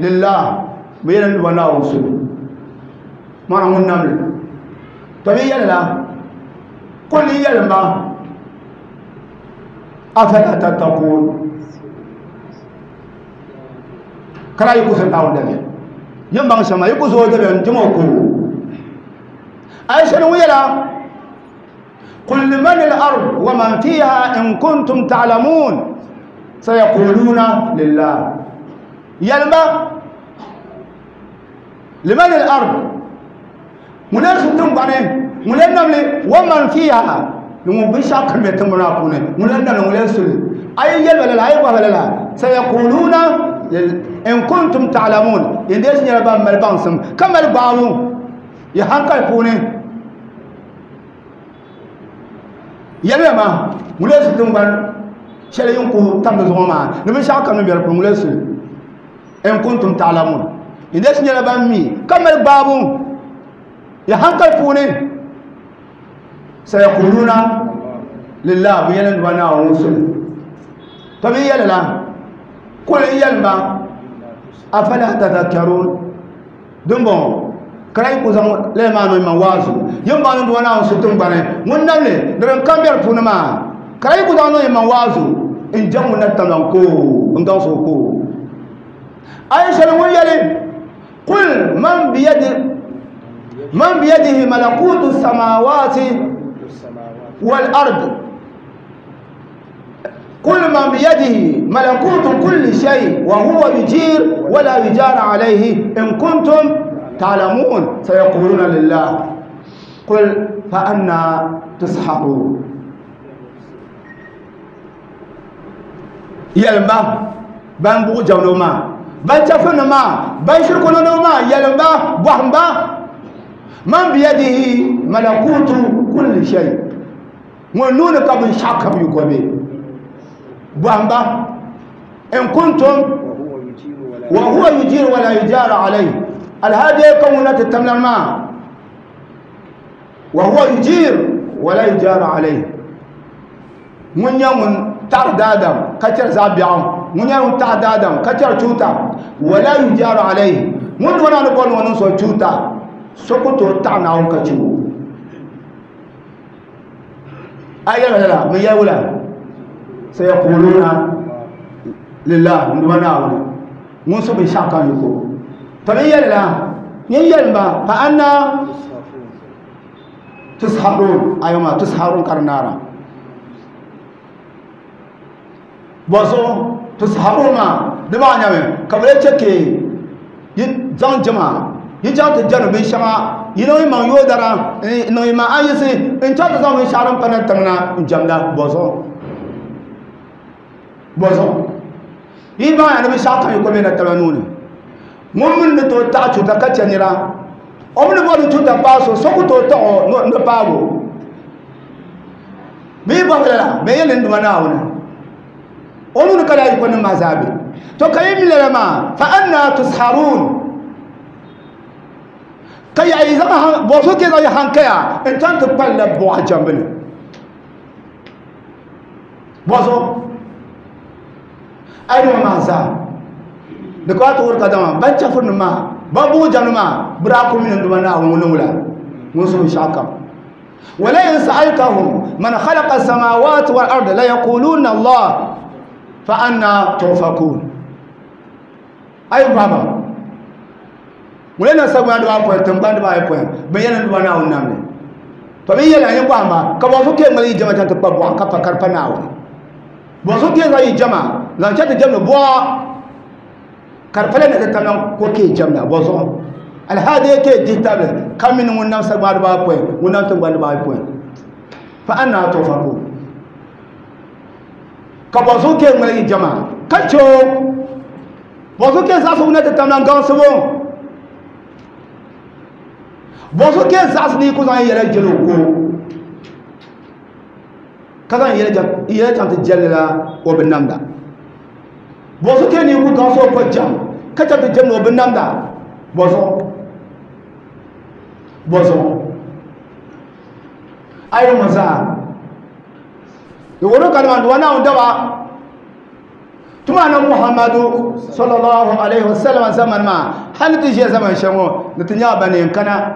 lillah bayan wala usul mana ngun namle to bi yalla qul yalma afala tattaqun kala yi kusan dawo dabe yin ban sama yi kuso dabe jimo ko aisha ni yala qul liman al-ard wa man fiha in kuntum ta'lamun sayaquluna lillah yalma liman al-ard mulan bane mulan namle wa man fiha nungu bi shakal me tambana kune mulan namle mulan sul ay yalma la ay wa la sayaquluna in kuntum ta'lamun inda shi ba mal bansum kamar bawu ya hankal kune yalma ma mulan su tumban shele yunku tam zo ma ni bi shakal me biyar mulan sul in kuntum ta'lamun inda shi ba mi kamar babu ya hankal kune sayaquluna lillah bi yalan wa na usul to bi yalala qul yalma afala tadhakkarun dumbo kray ku zam le ma no ma wazu yamba no wana usul tum bane mun namle dan kamber puna ma kray ku zam no ma wazu in jamu na tanan ko in ga so ko aisha mun yali qul man bi yadi man bi yadihi malakutu samawati wal ard قل من بيده ملكوت كل شيء وهو يجير ولا يجار عليه إن كنتم تعلمون سيقولون لله قل فأنا تسحرون. Yɛlimba ban buɣu jamdo maa, ban chɛfirnim maa, ban shirku niŋdiba maa, yɛlimba, bɔhimba, man biyadihi malakutu kulli shay, ŋun nuu ni ka binshɛɣu kam yiko be. Bɔhimba, in kuntum wa huwa yujiru wa la yujaru alayhi, alhaji ka ŋun na ti tamlan maa, wa huwa yujiru wa la yujaru alayhi, ŋun nyɛ ŋun taɣiri daadam ka chɛri zaɣ biɛɣu, ŋun nyɛ ŋun taɣiri daadam ka chɛri chuuta, wa la yujaru alayhi, ŋun duma ni bɔri ni o niŋ so chuuta, so ku tooi taɣi Naawuni ka chɛ o. A yɛli lala, bɛ yɛli wula? Sayaquluna lillah, n duma Naawuni ŋun su binshɛɣu kam yiko. To bɛ yɛli la, nyin yɛlim ba, fa anna tusharun, ayoma tusharun ka di naara. Bɔzuɣu tusharun maa di maa nyɛmi ka bɛ lee chɛ ka yi zaŋ jɛma, yi chaŋ ti jɛndi binshɛŋa, yi niŋ yi maŋ yoodara, n-niŋ yi maŋ ayisi n-chaŋ ti zaŋ binshɛɣu din pa na tiŋ na n-jɛmda. Bɔzuɣu bɔzuɣu yi baŋya ni binshɛɣu kam yi ko be na taba nuu ni. Ŋun mi ni tooi taɣi chuuta ka chɛ nira, o mi ni bɔri ni chuuta paai so, so ku tooi taɣi o ni paagi o. Bɛ yi bɔhigi lala, bɛ yɛli ni Duuma Naawuni, o nuu ni ka lala yiko nim maa zaa be. To ka yi mi lala maa, fa anna tusharun, ka yaɣi yi zaŋ bɔri so ka yi zaŋ yi hankaya n-chaŋ ti kpalila buɣa jɛmbu ni. Bɔzuɣu a yi niŋ maa zaa di ka ti wuhiri kadama ban chɛfurinim maa, ban buɣi jɛmdi maa, bɛ daa kuli mi ni Duuma Naawuni ŋun niŋ wula, ŋun su binshɛɣu kam. Walain sa'altahum man khalaqa as-samawati wal arda la yaquluna Allah fa anna tufakun. A yi bɔhi ba, ŋun lee na sagbana dibaa pɔi, tiŋgbani dibaa ayi pɔi, bɛ yɛli ni Duuma Naawuni nam li. To bɛ yɛli a yi bɔhim ba, ka bɔzuɣu ka yi ŋmali yi jɛma chaŋ ti kpa buɣa ka pa ka di pa Naawuni? Bɔzuɣu ka yi zaŋ yi jɛma zaŋ chaŋ ti jɛmdi buɣa ka di pala ni ti tamla ko ka yi jɛmda? Bɔzuɣu alhaadi ka yi dihi tabili ka mi ni ŋun nam sagbana dibaa pɔi, ŋun nam tiŋgbani dibaa ayi pɔi. Fa anna tufakun. Ka bɔzuɣu ka yi ŋmali yi jɛma ka chɛ o? Bɔzuɣu ka yi zaɣisi wuna ti tamla gaŋsibu? Bɔzuɣu ka yi zaɣisi ni yi ku zaŋ yi yɛla jɛli o ko, ka zaŋ yi yɛla chaŋ ti jɛli la o binnamda? Bɔzuɣu ka yi ni yi ku gaŋsi o ko jɛm, ka chaŋ ti jɛmdi o binnamda? Bɔzuɣu? Bɔzuɣu? A yi ŋɔ zaa, di wuhiri kadama Duuma Naawuni daba tuma na Muhammadu sallallahu alaihi wasallam zamani maa hali ti ʒiya zaman shɛli ŋɔ ni ti nyɛla ban yɛn kana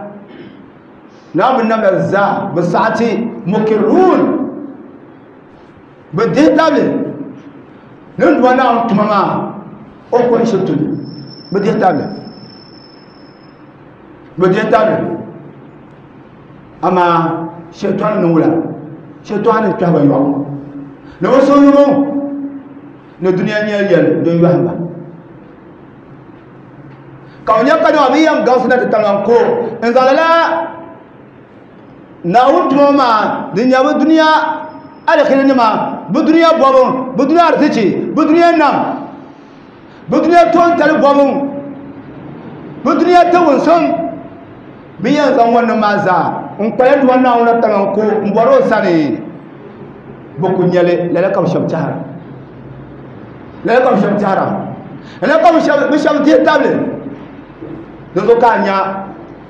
Naawuni namda zaa bi saɣati mukirun, bi dihi tabili ni Duuma Naawuni tuma maa o ko n-shiri tuli, bi dihi tabili, bi dihi tabili. Amaa shɛtɔni ni wula, shɛtɔni ni kpɛhi ba yɔɣu ni bi suhuyubu ni dunia nyɛli yɛli din yɔhim ba, ka bi nya kadama bi yɛn gaŋsi na ti tamla n-ko n-zaŋ lala Naawuni tuma maa din nyɛ bi dunia aliheri nima, bi dunia bɔbu, bi dunia arizichi, bi dunia nam, bi dunia toontali bɔbu, bi dunia tiwunsim. Bɛ yɛn zaŋ ŋɔ nim maa zaa n kpala Duuma Naawuni tiŋa n ko n bɔri o sani, bɛ ku nya li. Lala ka bɛ shɛba tɛhira, lala ka bɛ shɛba tɛhira, lala ka bɛ shɛba dihi tabili. Di zuɣu ka a nya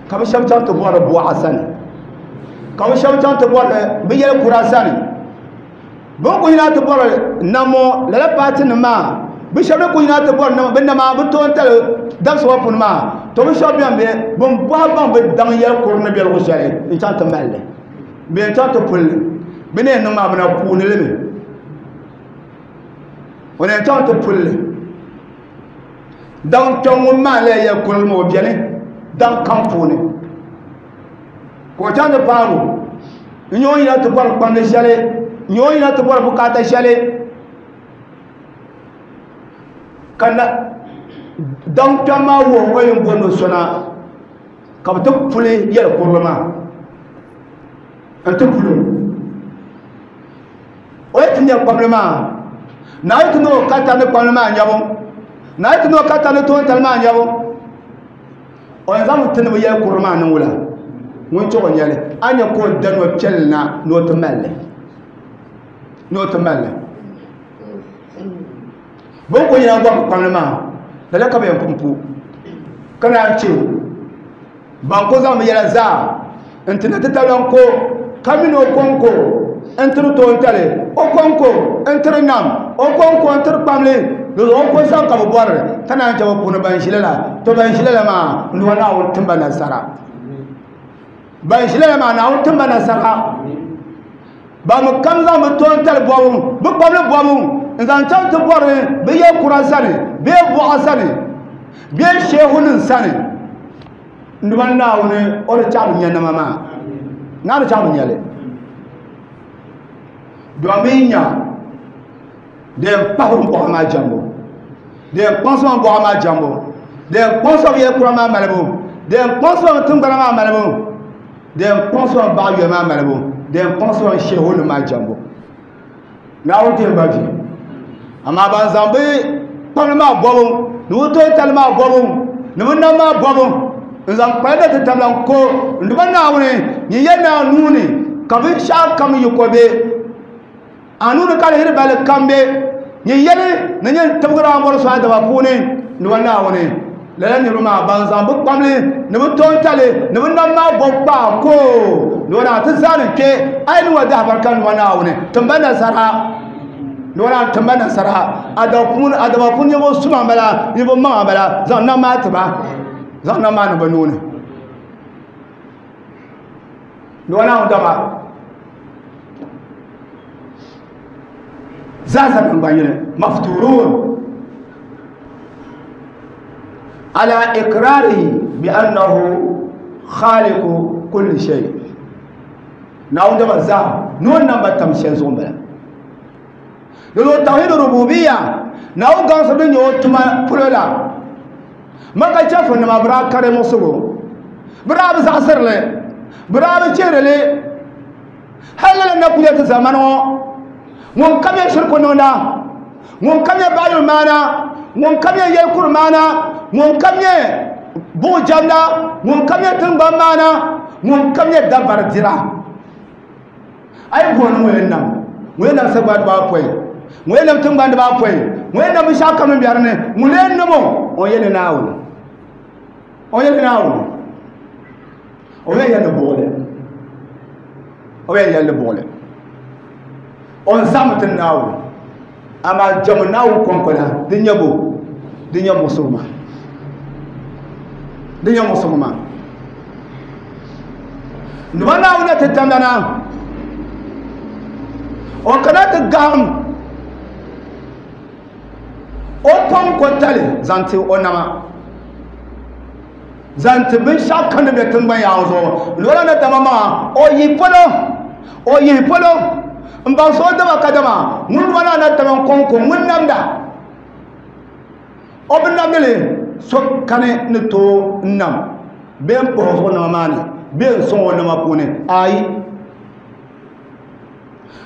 ka bɛ shɛba chaŋ ti bɔri buɣa sani, ka bɛ shɛba chaŋ ti bɔri bɛ yɛli kura sani. Bɛ ni ku yina ti bɔri nammo lala paati nim maa, bɛ shɛba ni ku yina ti bɔri bɛ nama bɛ toontali dabisi ŋɔ puuni maa, to bɛ shɛba bɛn be bɛn bɔhi baŋ bɛ daŋ yɛli kuri ni be luɣ shɛli n-chaŋ ti mali li bee n-chaŋ ti puli li. Bɛ ni yɛn niŋ maa bɛ na kuuni li mi. O ni yɛn chaŋ ti puli li. Daŋ kpɛŋ ŋun maa lala yɛli kurili maa o beni daŋ kam puuni. Ka o chaŋ ti paagi o. N-nyɛ o yina ti bɔri kpamdi shɛli, n-nyɛ o yina ti bɔri bukaata shɛli, ka na daŋ kpɛm maa wuhi o yɛn booni o so na, ka bɛ ti puli yɛli kurili maa n-ti puli o. O yi ti nya kpamli maa, Na yi ti ni o ka tari ni kpamli maa nyabu, na yi ti ni o ka tari ni toontali maa nyabu, o yɛn zaŋmi ti ni bi yɛli kurili maa niŋ wula ŋun chɛ o nyɛli, a ni nya ka o da nɔ piɛlli na ni o ti mali li, ni o ti mali li. Bɛ ni kuli yɛn gɔbi kpamli maa, lala ka bɛ yɛn pun pu, ka naan chɛ ban ku zaŋ bɛ yɛla zaa n-ti na ti tabila n-ko, ka mi ni o kɔŋko n-tiri toontali, o kɔŋko n-tiri nam, o kɔŋko n-tiri kpamli, di zuɣu o ko zaŋ ka bɛ bɔri, ka naan chɛ bɛ puuni ban ʒi lala. To ban ʒi lala maa, n Duuma Naawuni tim ba nasara. Ban ʒi lala maa, Naawuni tim ba nasara. Ban mi kam zaŋ bɛ toontali bɔbu, bɛ kpamli bɔbu n-zaŋ chaŋ ti bɔri bɛ yɛl kura sani, bee buɣa sani, bee sheehunim sani, n Duuma Naawuni o di chaɣi bi nya nama maa, naa di chaɣi bi nya li. Domin nya di yɛn pahi o buɣa maa jɛmbu, di yɛn kpaŋsi o buɣa maa jɛmbu, di yɛn kpaŋsi o yɛl kura maa malibu, di yɛn kpaŋsi o tiŋgbana maa malibu, di yɛn kpaŋsi o baɣa yuya maa malibu, di yɛn kpaŋsi o sheehunim maa jɛmbu. Naawuni ti yɛn ba vi. Amaa ban zaŋ bɛ kpamli maa bɔbu ni bɛ toontali maa bɔbu ni bɛ nam maa bɔbu n-zaŋ kpali na ti tabila n-ko n-duba Naawuni nyin yɛli ni a nuu ni ka binshɛɣu kam yi ko be, a nuu ni ka aliheri balli kam be, nyin yɛli ni nyin tibigiri a ni bɔri so a daba puuni n-duba Naawuni. Lala niriba maa ban zaŋ bɛ kpamli ni bɛ toontali ni bɛ nam maa bɔbu kpaai ko ni o naa ti zaani kpe a yi niŋ o dahibarika n-duba Naawuni timba nasara. Ni o naan timba nasara a daba puuni, a daba puuni ninvuɣ suma m-bala, ninvuɣ maŋa m-bala, zaŋ nam maa ti ba, zaŋ nam maa niŋ bɛ nuu ni. Ni o Naawuni daba zaasa naŋgban yini mafturuun ala ikrarihi bi annahu khaliqu kulli shay. Naawuni daba zaa ni o nam ba tam shɛli zuɣu m-bala. Di zuɣu tawhid rububiyya Naawuni gaŋsi din nyɛ o tuma polo la Maka chɛfurinima bɛ daa kari muɣisigu, bɛ daa bi zaɣisiri li, bɛ daa bi chihiri li. Hali lala na kuli ti zamani ŋɔ, ŋun kam yɛn shiriku niŋda, ŋun kam yɛn baɣiyuli maana, ŋun kam yɛn yɛlikuri maana, ŋun kam yɛn buɣu jɛmda, ŋun kam yɛn tiŋgbani maana, ŋun kam yɛn dabari dira. A yi bɔri ni ŋun yɛn nam, ŋun yɛn nam sagbana dibaa apɔin, ŋun yɛn nam tiŋgbani dibaa apɔin, ŋun yɛn nam binshɛɣu kam din be di ni, ŋun lee nam o, o yɛn ni Naawuni. O yɛn ni Naawuni. O yɛn yɛli ni buɣili. O yɛn yɛli ni buɣili. O ni zaŋmi ti Naawuni. Amaa jɛmbu Naawuni kɔŋko la, di nyɛ bo? Di nyɛ muɣisigu maa. Di nyɛ muɣisigu maa. Nima Naawuni na ti tamda na, o kana ti gahim o kɔŋko tali zaŋ ti o nama, zaŋ ti binshɛɣu kam din be tiŋgbani yaɣa zuɣu. Loola ni dama maa, o yihi polo, o yihi polo m-baŋsi o daba kadama ŋun nima naa na taba n-kɔŋko ŋun namda. O bi namdi li, so kani ni tooi n-nam bee m-puhi o zuɣu nama maa ni bee n-sɔŋ o nama puuni. Aai!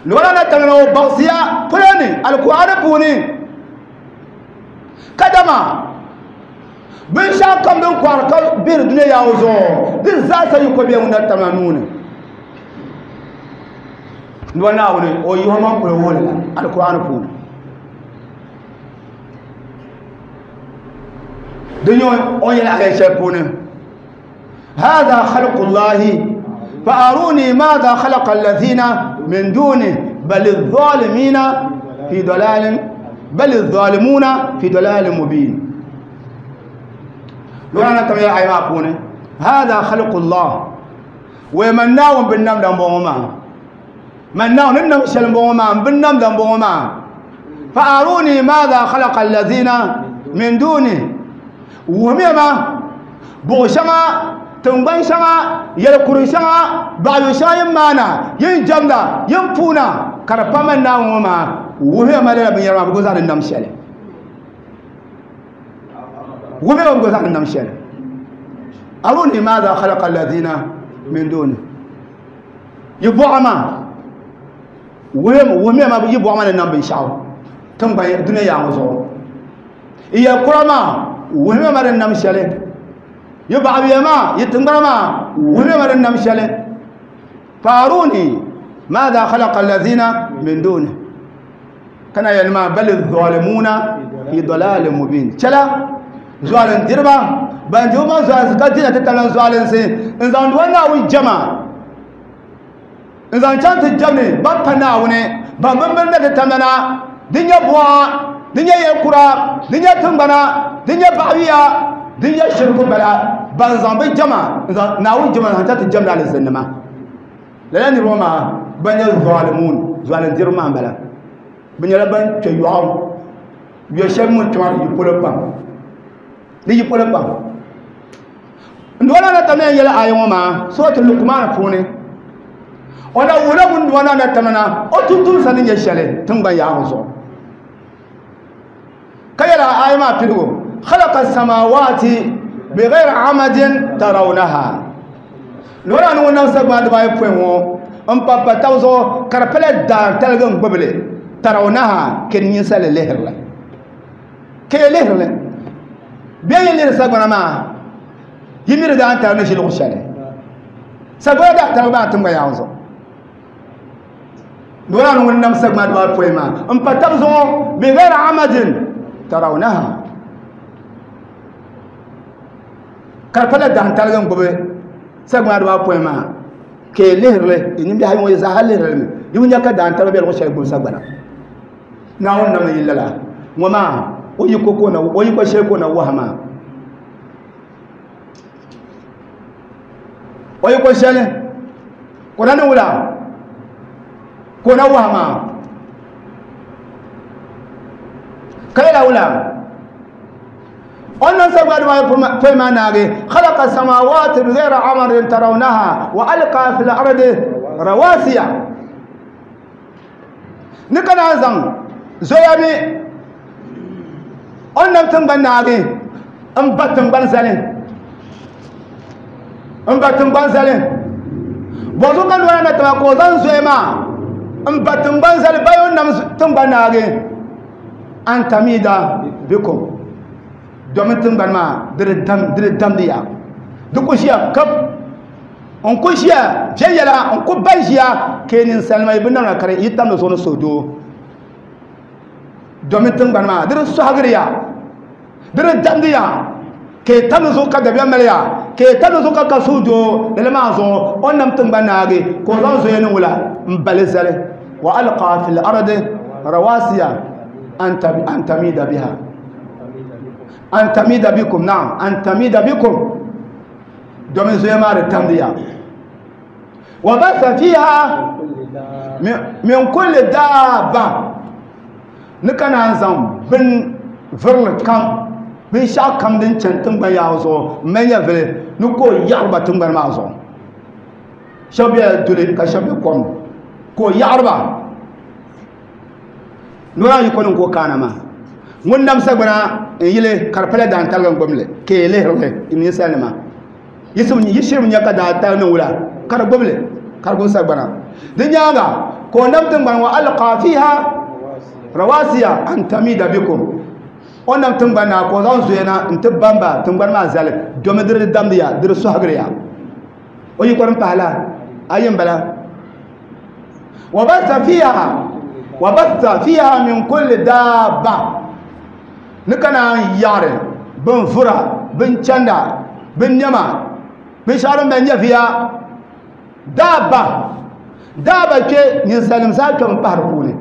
Loola na taba ni o baŋsiya polo ni Alkur'aani puuni kadama binshɛɣu kam din kɔhiri ka bihiri dunia yaɣa ŋɔ zuɣu di zaasa yi ko bɛ ŋun na tamla nuu ni. Nua Naawuni o yihi o maŋ polo wuhiri la Alkur'aani puuni. Di nyɛ o ni yɛli aya shɛli puuni هذا خلق الله فأروني ماذا خلق الذين من دونه بل الظالمين في ضلال بل الظالمون في ضلال مبين. لولا تم يا أيما بوني هذا خلق الله ومن ناوم بالنم دم بوما من ناوم نم شلم بوما بالنم دم بوما فأروني ماذا خلق الذين من دونه ومما buɣu shɛŋa tiŋgbani shɛŋa yɛlikuri shɛŋa baɣayu shɛŋa yin maana yin jɛmda yin puuna ka di pa mani Naawuni ŋɔ maa wuhiya ma lala binyɛra maa bi gba zaŋ di nam shɛli wuhiya ma bi gba zaŋ di nam shɛli aruni maadha khalaqa alladhina min duni yi buɣa maa wuhiya ma yi buɣa maa ni nam binshɛɣu. Tiŋgbani dunia yaa ŋɔ zuɣu iya kura maa wuhimi ma din nam shɛli yi baɣabiya maa yi tiŋgbana maa wuhimi ma din nam shɛli faaruni maadha khalaqa alladhina min duni kana yɛli maa bal zalimuna fi dalalin mubin chɛla zualin diriba ban di ma zualinsi ka dina ti tabila zualinsi n zaŋdi wa Naawuni jama n zaŋ chaŋ ti jɛmni ban pa Naawuni ban bimbini na ti tamla na din nyɛ buɣa din nyɛ yɛlkura din nyɛ tiŋgbana din nyɛ baɣawiya din nyɛ shiriku bala ban zaŋ bi jama n zaŋ Naawuni jama zaŋ chaŋ ti jɛmdi alizinnima lala niriba maa ban nyɛ zalimun zualin diriba maa n bala bi nyɛla ban kpɛ yɔɣu yɔ shɛli mun kpɛma di yi polo pam di yi polo pam n dɔla na tamina yɛli aya ŋɔ maa suratul Luqman puuni o na wuhila ŋun dɔla na tamina o tumtumsa ni nyɛ shɛli tiŋgbani yaɣa zuɣu ka yɛli aya maa piligu khalaqa samawati bighayri amadin tarawnaha lɔra ni ŋun nam sagbana dibaayi pɔi ŋɔ n pa pa tabi zuɣu ka di pala daantaligi n gbubili tarawnaha ka di ninsali lihirili ka yi lihirili bɛ yi lihiri sagbana maa yi mi di daantaligi ni ʒi luɣu shɛli sagbana daantaligi maa tiŋgbani yaɣa zuɣu lɔra ni ŋun nam sagbana dibaayi pɔi maa n pa tabi zuɣu bighayri amadin tarawnaha ka di pala daantaligi n gbubi sagbana dibaayi pɔi maa ka yi lihirili nimbihi ŋɔ zaaha lihirili mi di bi nya ka daantaligi bɛ luɣu shɛli gbubi sagbana Naawuni nam yi lala ŋɔ maa o yi ko o yi ko shɛli ka o na wahi maa o yi ko shɛli ka o na niŋ wula ka o na wahi maa ka yɛla wula wannan sagbana dibaayi pɔi maa naagi khalaqa samawati bighayri amadin tarawnaha wa alqa fil ardi rawasiya ni ka naan zaŋ zoya mi o ni nam tiŋgbani naagi n ba tiŋgbani zali n ba tiŋgbani zali bɔzu ka nɔya na tiŋa ka o zaŋ zoya maa n ba tiŋgbani zali bayo o ni nam tiŋgbani naagi an tamida bikum domin tiŋgbani maa di di damdi ya di ku ʒiya kap n ku ʒiya viɛnyɛla n ku ban ʒiya ka yi ninsalima yi bi namda ka yi tamdi zuɣu ni suhudoo domin tiŋgbani maa di di sɔhigiri ya di di damdi ya ka yi tamdi zuɣu ka dabiɛm mali ya ka yi tamdi zuɣu ka ka suhudoo lala maa zuɣu o ni nam tiŋgbani naagi ka o zaŋ zoya ni wula n bali zali wa alqa fil ardi rawasiya an tamida biha an tamida bikum naam an tamida bikum domin zoya maa di tamdi ya wa batha fiha min kulli daaba ni ka naan zaŋ bin virili kam binshɛɣu kam din chani tiŋgbani yaɣa zuɣu n mali nyɛvili ni ka o yaɣari ba tiŋgbani maa zuɣu shɛba bela duli ka shɛba be kom ni ka o yaɣari ba nora yi ko niŋ ka o kaana maa ŋun nam sagbana n yili ka di pala daantaligi n gbubili ka yi lihirili ninsalinima yi shiri nya ka daantaligi niŋ wula ka di gbubili ka di gbubi sagbana di nyaanga ka o nam tiŋgbani wa alqa fiha rawasiya an tamida bikum o nam tiŋgbani na ka o zaŋ zoya na n ti bamba tiŋgbani maa zali domi di di damdi ya di di sɔhigiri ya o yi kɔrim pahila ayi n bala wa batha fiha min kulli daaba ni ka naan yaɣari bin vura bin chanda bin nɛma binshɛɣu din bɛn nyɛviya daaba daaba kpɛ ninsalinima zaa kpɛmi pahi di puuni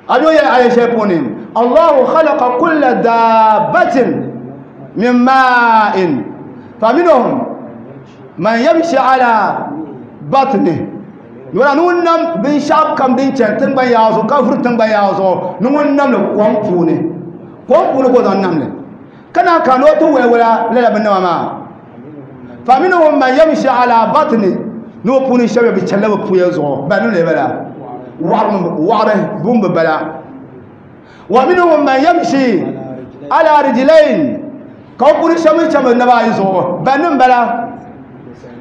a yo yɛli aya shɛli puuni Allahu khalaqa kulla daabatin min ma'in faminhum man yamshi ala batnihi wala ni ŋun nam binshɛɣu kam din chani tiŋgbani yaɣa zuɣu ka vuri tiŋgbani yaɣa zuɣu ni ŋun namli kom puuni kom puuni ka o zaŋ namli ka naan ka ni o ti waliwala lala binnema maa faminhum man yamshi ala batni ni o puuni shɛba bi chanila bi puya zuɣu ba ni bala waɣari bun bi bala wa minhum man yamshi ala rijlain ka o puuni shɛba mi chani bi naba ayi zuɣu ba ni bala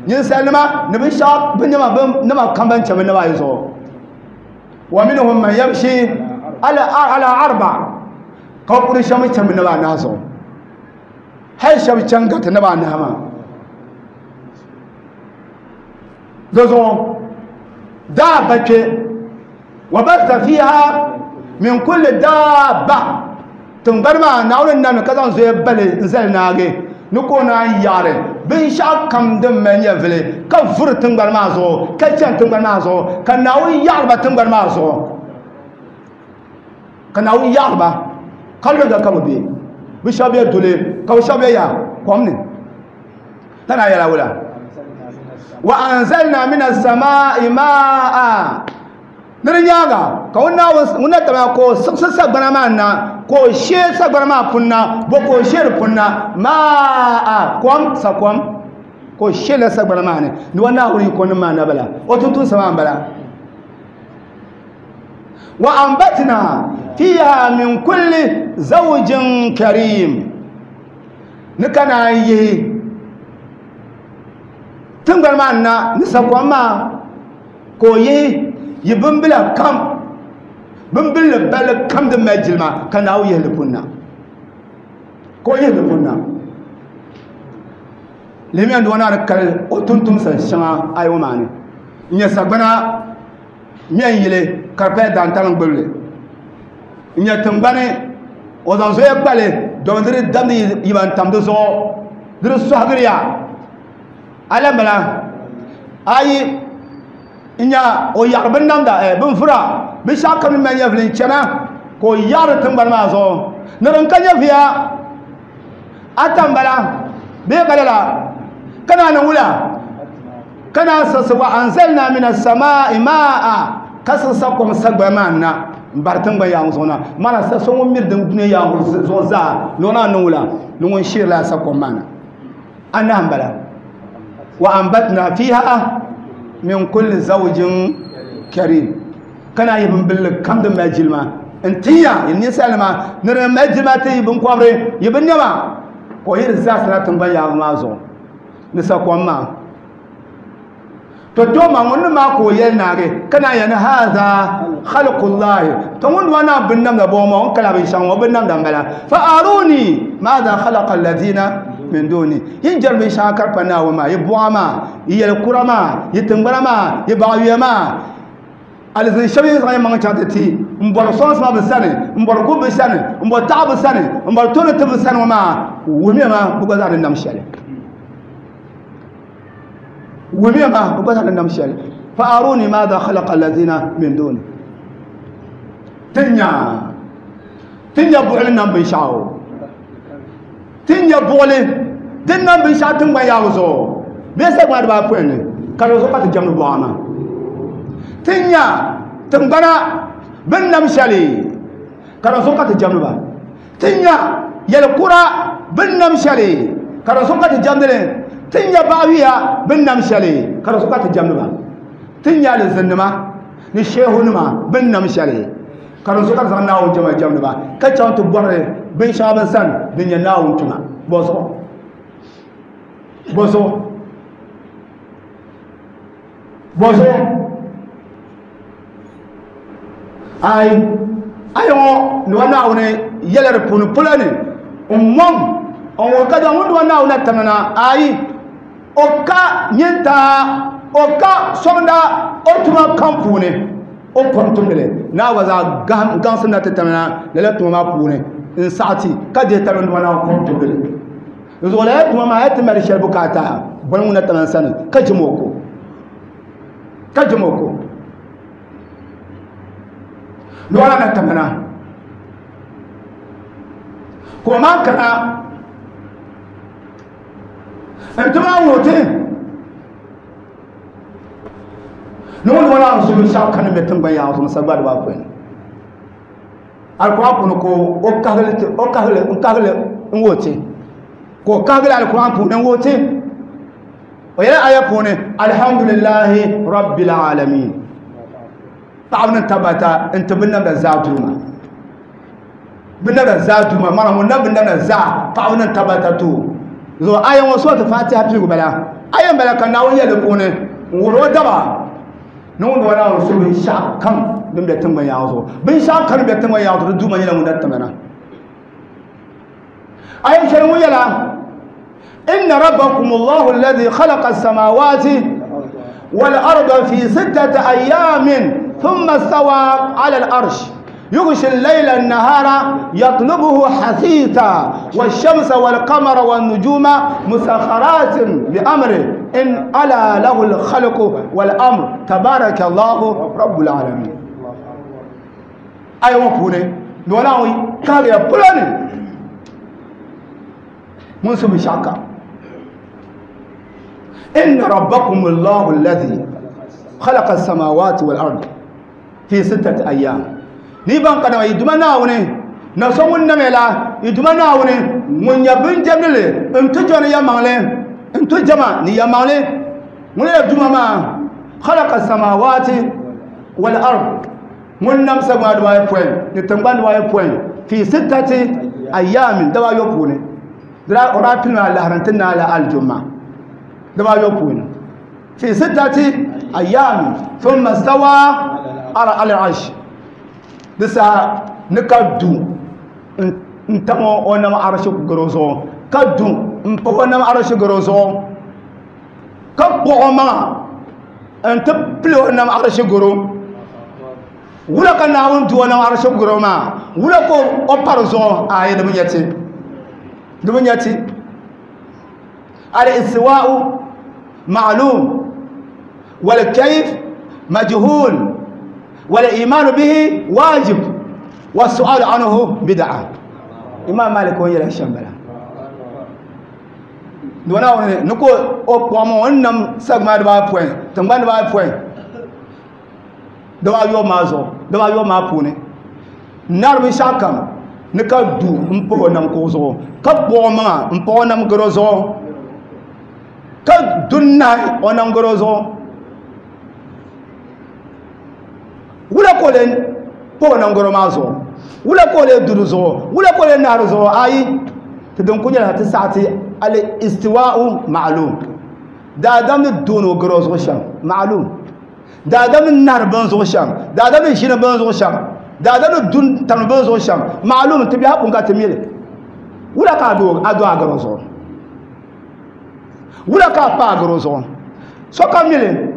ninsalinima ni binshɛɣu binnema kam ban chani bi naba ayi zuɣu wa minhum man yamshi Ala arba ka kuri shɛm chɛm naba anahi zuɣu hali shɛba chɛŋ gariti naba anahi maa di zuɣu daaba kpɛ wa basa fiha min kulli daaba tingbani maa Naawuni ni namli ka zaŋ zoya bali n zali naagi ni ka o naan yaɣari binshaɣu kam din mali nyɛvili ka vuri tingbani maa zuɣu ka chɛni tingbani maa zuɣu ka Naawuni yaɣari ba tingbani maa zuɣu ka Naawuni yaɣari ba ka luɣa ka bi bɛ bi shɛba bɛ duli ka bi shɛba bɛ ya kom ni tana yɛla wula wa anzalna min as-samaa'i maa'a ni di nyaaŋa ka ŋun na taba ka o siɣisi sagbana maa na ka o shee sagbana maa puni na bo ka o shee di puni na maa kom sakom ka o shee la sagbana maa ni ni wa Naawuni yiko nim maa na bala o tuntumsa maa n bala wa ambatna fiha min kulli zawjin karim ni ka naan yihi tingbani maa na ni sakom maa ka o yihi yi bimbila kam bimbilli balli kam din mali jilima ka Naawuni yihi li punna ka o yihi li punna lihimiya ni o naa ni kali o tumtumsa shɛŋa ayi ŋɔ maa ni n nyɛ sagbana mɛ n yili ka di paya daantaliŋ gbubili n nyɛ tingbani o zaŋ zoya kpali domin di di damdi yiba n tam di zuɣu di di sɔhigiriya alambala ayi n nya o yaɣari bin namda bin vura binshaɣu kam ni mali nyɛvili n chɛna ka o yaɣari tingbani maa zuɣu ni din ka nyɛviya ata n bala bee ka lala ka naa niŋ wula ka naa siɣisi wa anzalna min as-samaa'i maa'a ka siɣisa kom sagbana maa na n bari tingbani yaangu zuɣu na mana sa so ŋun miri din dunia yaangu zuɣu zaa ni o naa niŋ wula ni ŋun sheerila sa kom maa na anahi n bala wa ambatna fiha min kulli zawjin karim ka naa yi bimbilli kam din mali jilima n tinya yi ninsalinima ni din mali jilima ti yi binkɔbiri yi binnɛma ka o yi di zaa sana tingbani yaangu maa zuɣu ni sakom maa to to ma ŋun ni maa ka o yɛli naagi ka naan yɛli ni haza khalqullahi to ŋun duma naan bin namda bɔŋɔ maa o ni kala binshɛŋa ŋɔ bin namda n-bala fa aruni maada khalaqa alladhina min duni yin jɛri binshɛŋa ka di pa Naawuni maa yi buɣa maa yi yɛli kura maa yi tingbana maa yi baɣayuya maa alizin shɛba yi zaŋ yi maŋ chaŋ ti ti n bɔri sɔŋsim bi sani n bɔri gubu bi sani n bɔri taɣabu bi sani n bɔri tooni tibu bi sani ŋɔ maa wuhimiya ma bi gba zaa ni nam shɛli wuhimiya ma bi gba zaa ni nam shɛli fa aruni maada khalaqa alladhina min duni ti nya buɣili nam binshaɣu ti nya buɣili din nam binshaɣu tingbani yaabu zuɣu bee sagbana dibaapɔin ni ka di zuɣu ka ti jɛmdi buɣa maa ti nya tingbana bin nam shɛli ka di zuɣu ka ti jɛmdi ba ti nya yɛli kura bin nam shɛli ka di zuɣu ka ti jɛmdi li ti nya baɣayuya bin nam shɛli ka di zuɣu ka ti jɛmdi ba ti nya alizinnima ni sheehunima bin nam shɛli ka di zuɣu ka ti zaŋ Naawuni jɛma jɛmdi ba ka chaŋ ti bɔri binshɛŋa bin sani din nyɛ Naawuni tuma bɔzuɣu bɔzuɣu bɔzuɣu ayi ayi ŋɔ ni wa Naawuni yɛla di puuni polo ni n mɔŋ n wuhi ka ŋun di wa Naawuni na tamina na ayi o ka nyintaa o ka sɔŋda o tuma kam puuni o kom tumdili naa gba zaa gaŋsim na ti tamina lala tuma maa puuni n saɣati ka dihi tabili ni wa Naawuni kom tumdili di zuɣu lala tuma maa ya ti mali shɛli bukaata boli ŋun na tamina sani ka jɛm o ko ka jɛm o ko lɔra na tamina ka o maa kana n ti maa wuhi ti ni ŋun ŋɔ su binshaɣu kani bɛ tingbani yaɣa zuɣu sagbana dibaapɔin alikuran puuni ka o kahigili ti o kahigili n kahigili n wuhi ti ka o kahigili alikuran puuni n wuhi ti o yɛla aya puuni alhamdulillahi rabbil alamin paɣaba ni tabbata n ti binnamda zaa duuma binnamda zaa duuma mana ŋun nam binnamda zaa paɣaba ni tabbata to zuɣu aya ŋɔ surati fatiha piligu bala aya n bala ka Naawuni yɛli di puuni n wuhiri o daba Ni ŋun duma Naawuni su binshɛɣu kam din be tiŋgbani yaɣa zuɣu. Binshɛɣu kam din be tiŋgbani yaɣa zuɣu di duuma nyɛla ŋun na timina. Ayi shɛli ŋun yɛla inna rabbakum Allahu alladhi khalaqa as-samawati wal arda fi sittati ayamin thumma istawa ala al-arsh يغشي الليل النهار يطلبه حثيثا والشمس والقمر والنجوم مسخرات بأمره إن ألا له الخلق والأمر تبارك الله رب العالمين. أيوة بوني نولاوي كاريا بولاني منسوب شاكا إن ربكم الله الذي خلق السماوات والأرض في 6 أيام. Ni ban kana yi duma naawuni na so ŋun namela yi duma naawuni ŋun nyɛ binjɛmdili n ti jɔni yɛmaŋli n ti jama ni yɛmaŋli ŋun yɛ duma maa khalaqa samawati wal ard ŋun nam sagbana dibaayi pɔin ni tingbani dibaayi pɔin fi sittati ayamin dabaayo puuni o daa pili maa lahari n ti naai la aljuma dabaayo puuni fi sittati ayamin thumma stawa ala al-arsh. Di saha ni ka du n tam o nam arshi garo zuɣu ka du n pa o nam arshi garo zuɣu ka kpuɣi o maŋa n ti pili o nam arshi garo wula ka Naawuni du o nam arshi garo maa wula ka o pari zuɣu ayi di bi nyɛ ti al-istiwa'u ma'lum wal kayf majhul والإيمان به واجب والسؤال عنه بدعة. إمام مالك وين يلا شمبلا دونا نكو أو ونم سغما دبا بوين تنغان دبا بوين دبا يو مازو دبا يو ما بوني نار بشاكم نكا دو مبو نم كوزو كبو ما مبو نم غروزو كدنا ونم غروزو wula ko le po nan goro ma zo wula ko le duru zo wula ko le naru zo ayi te don kunya ta sa'ati al istiwa'u ma'lum da dam duno goro zo sham ma'lum da dam nar ban zo sham da dam shina ban zo sham da dam dun tan ban zo sham ma'lum te biya kun ka te mele wula ka do ado a goro zo wula ka pa goro zo so ka mele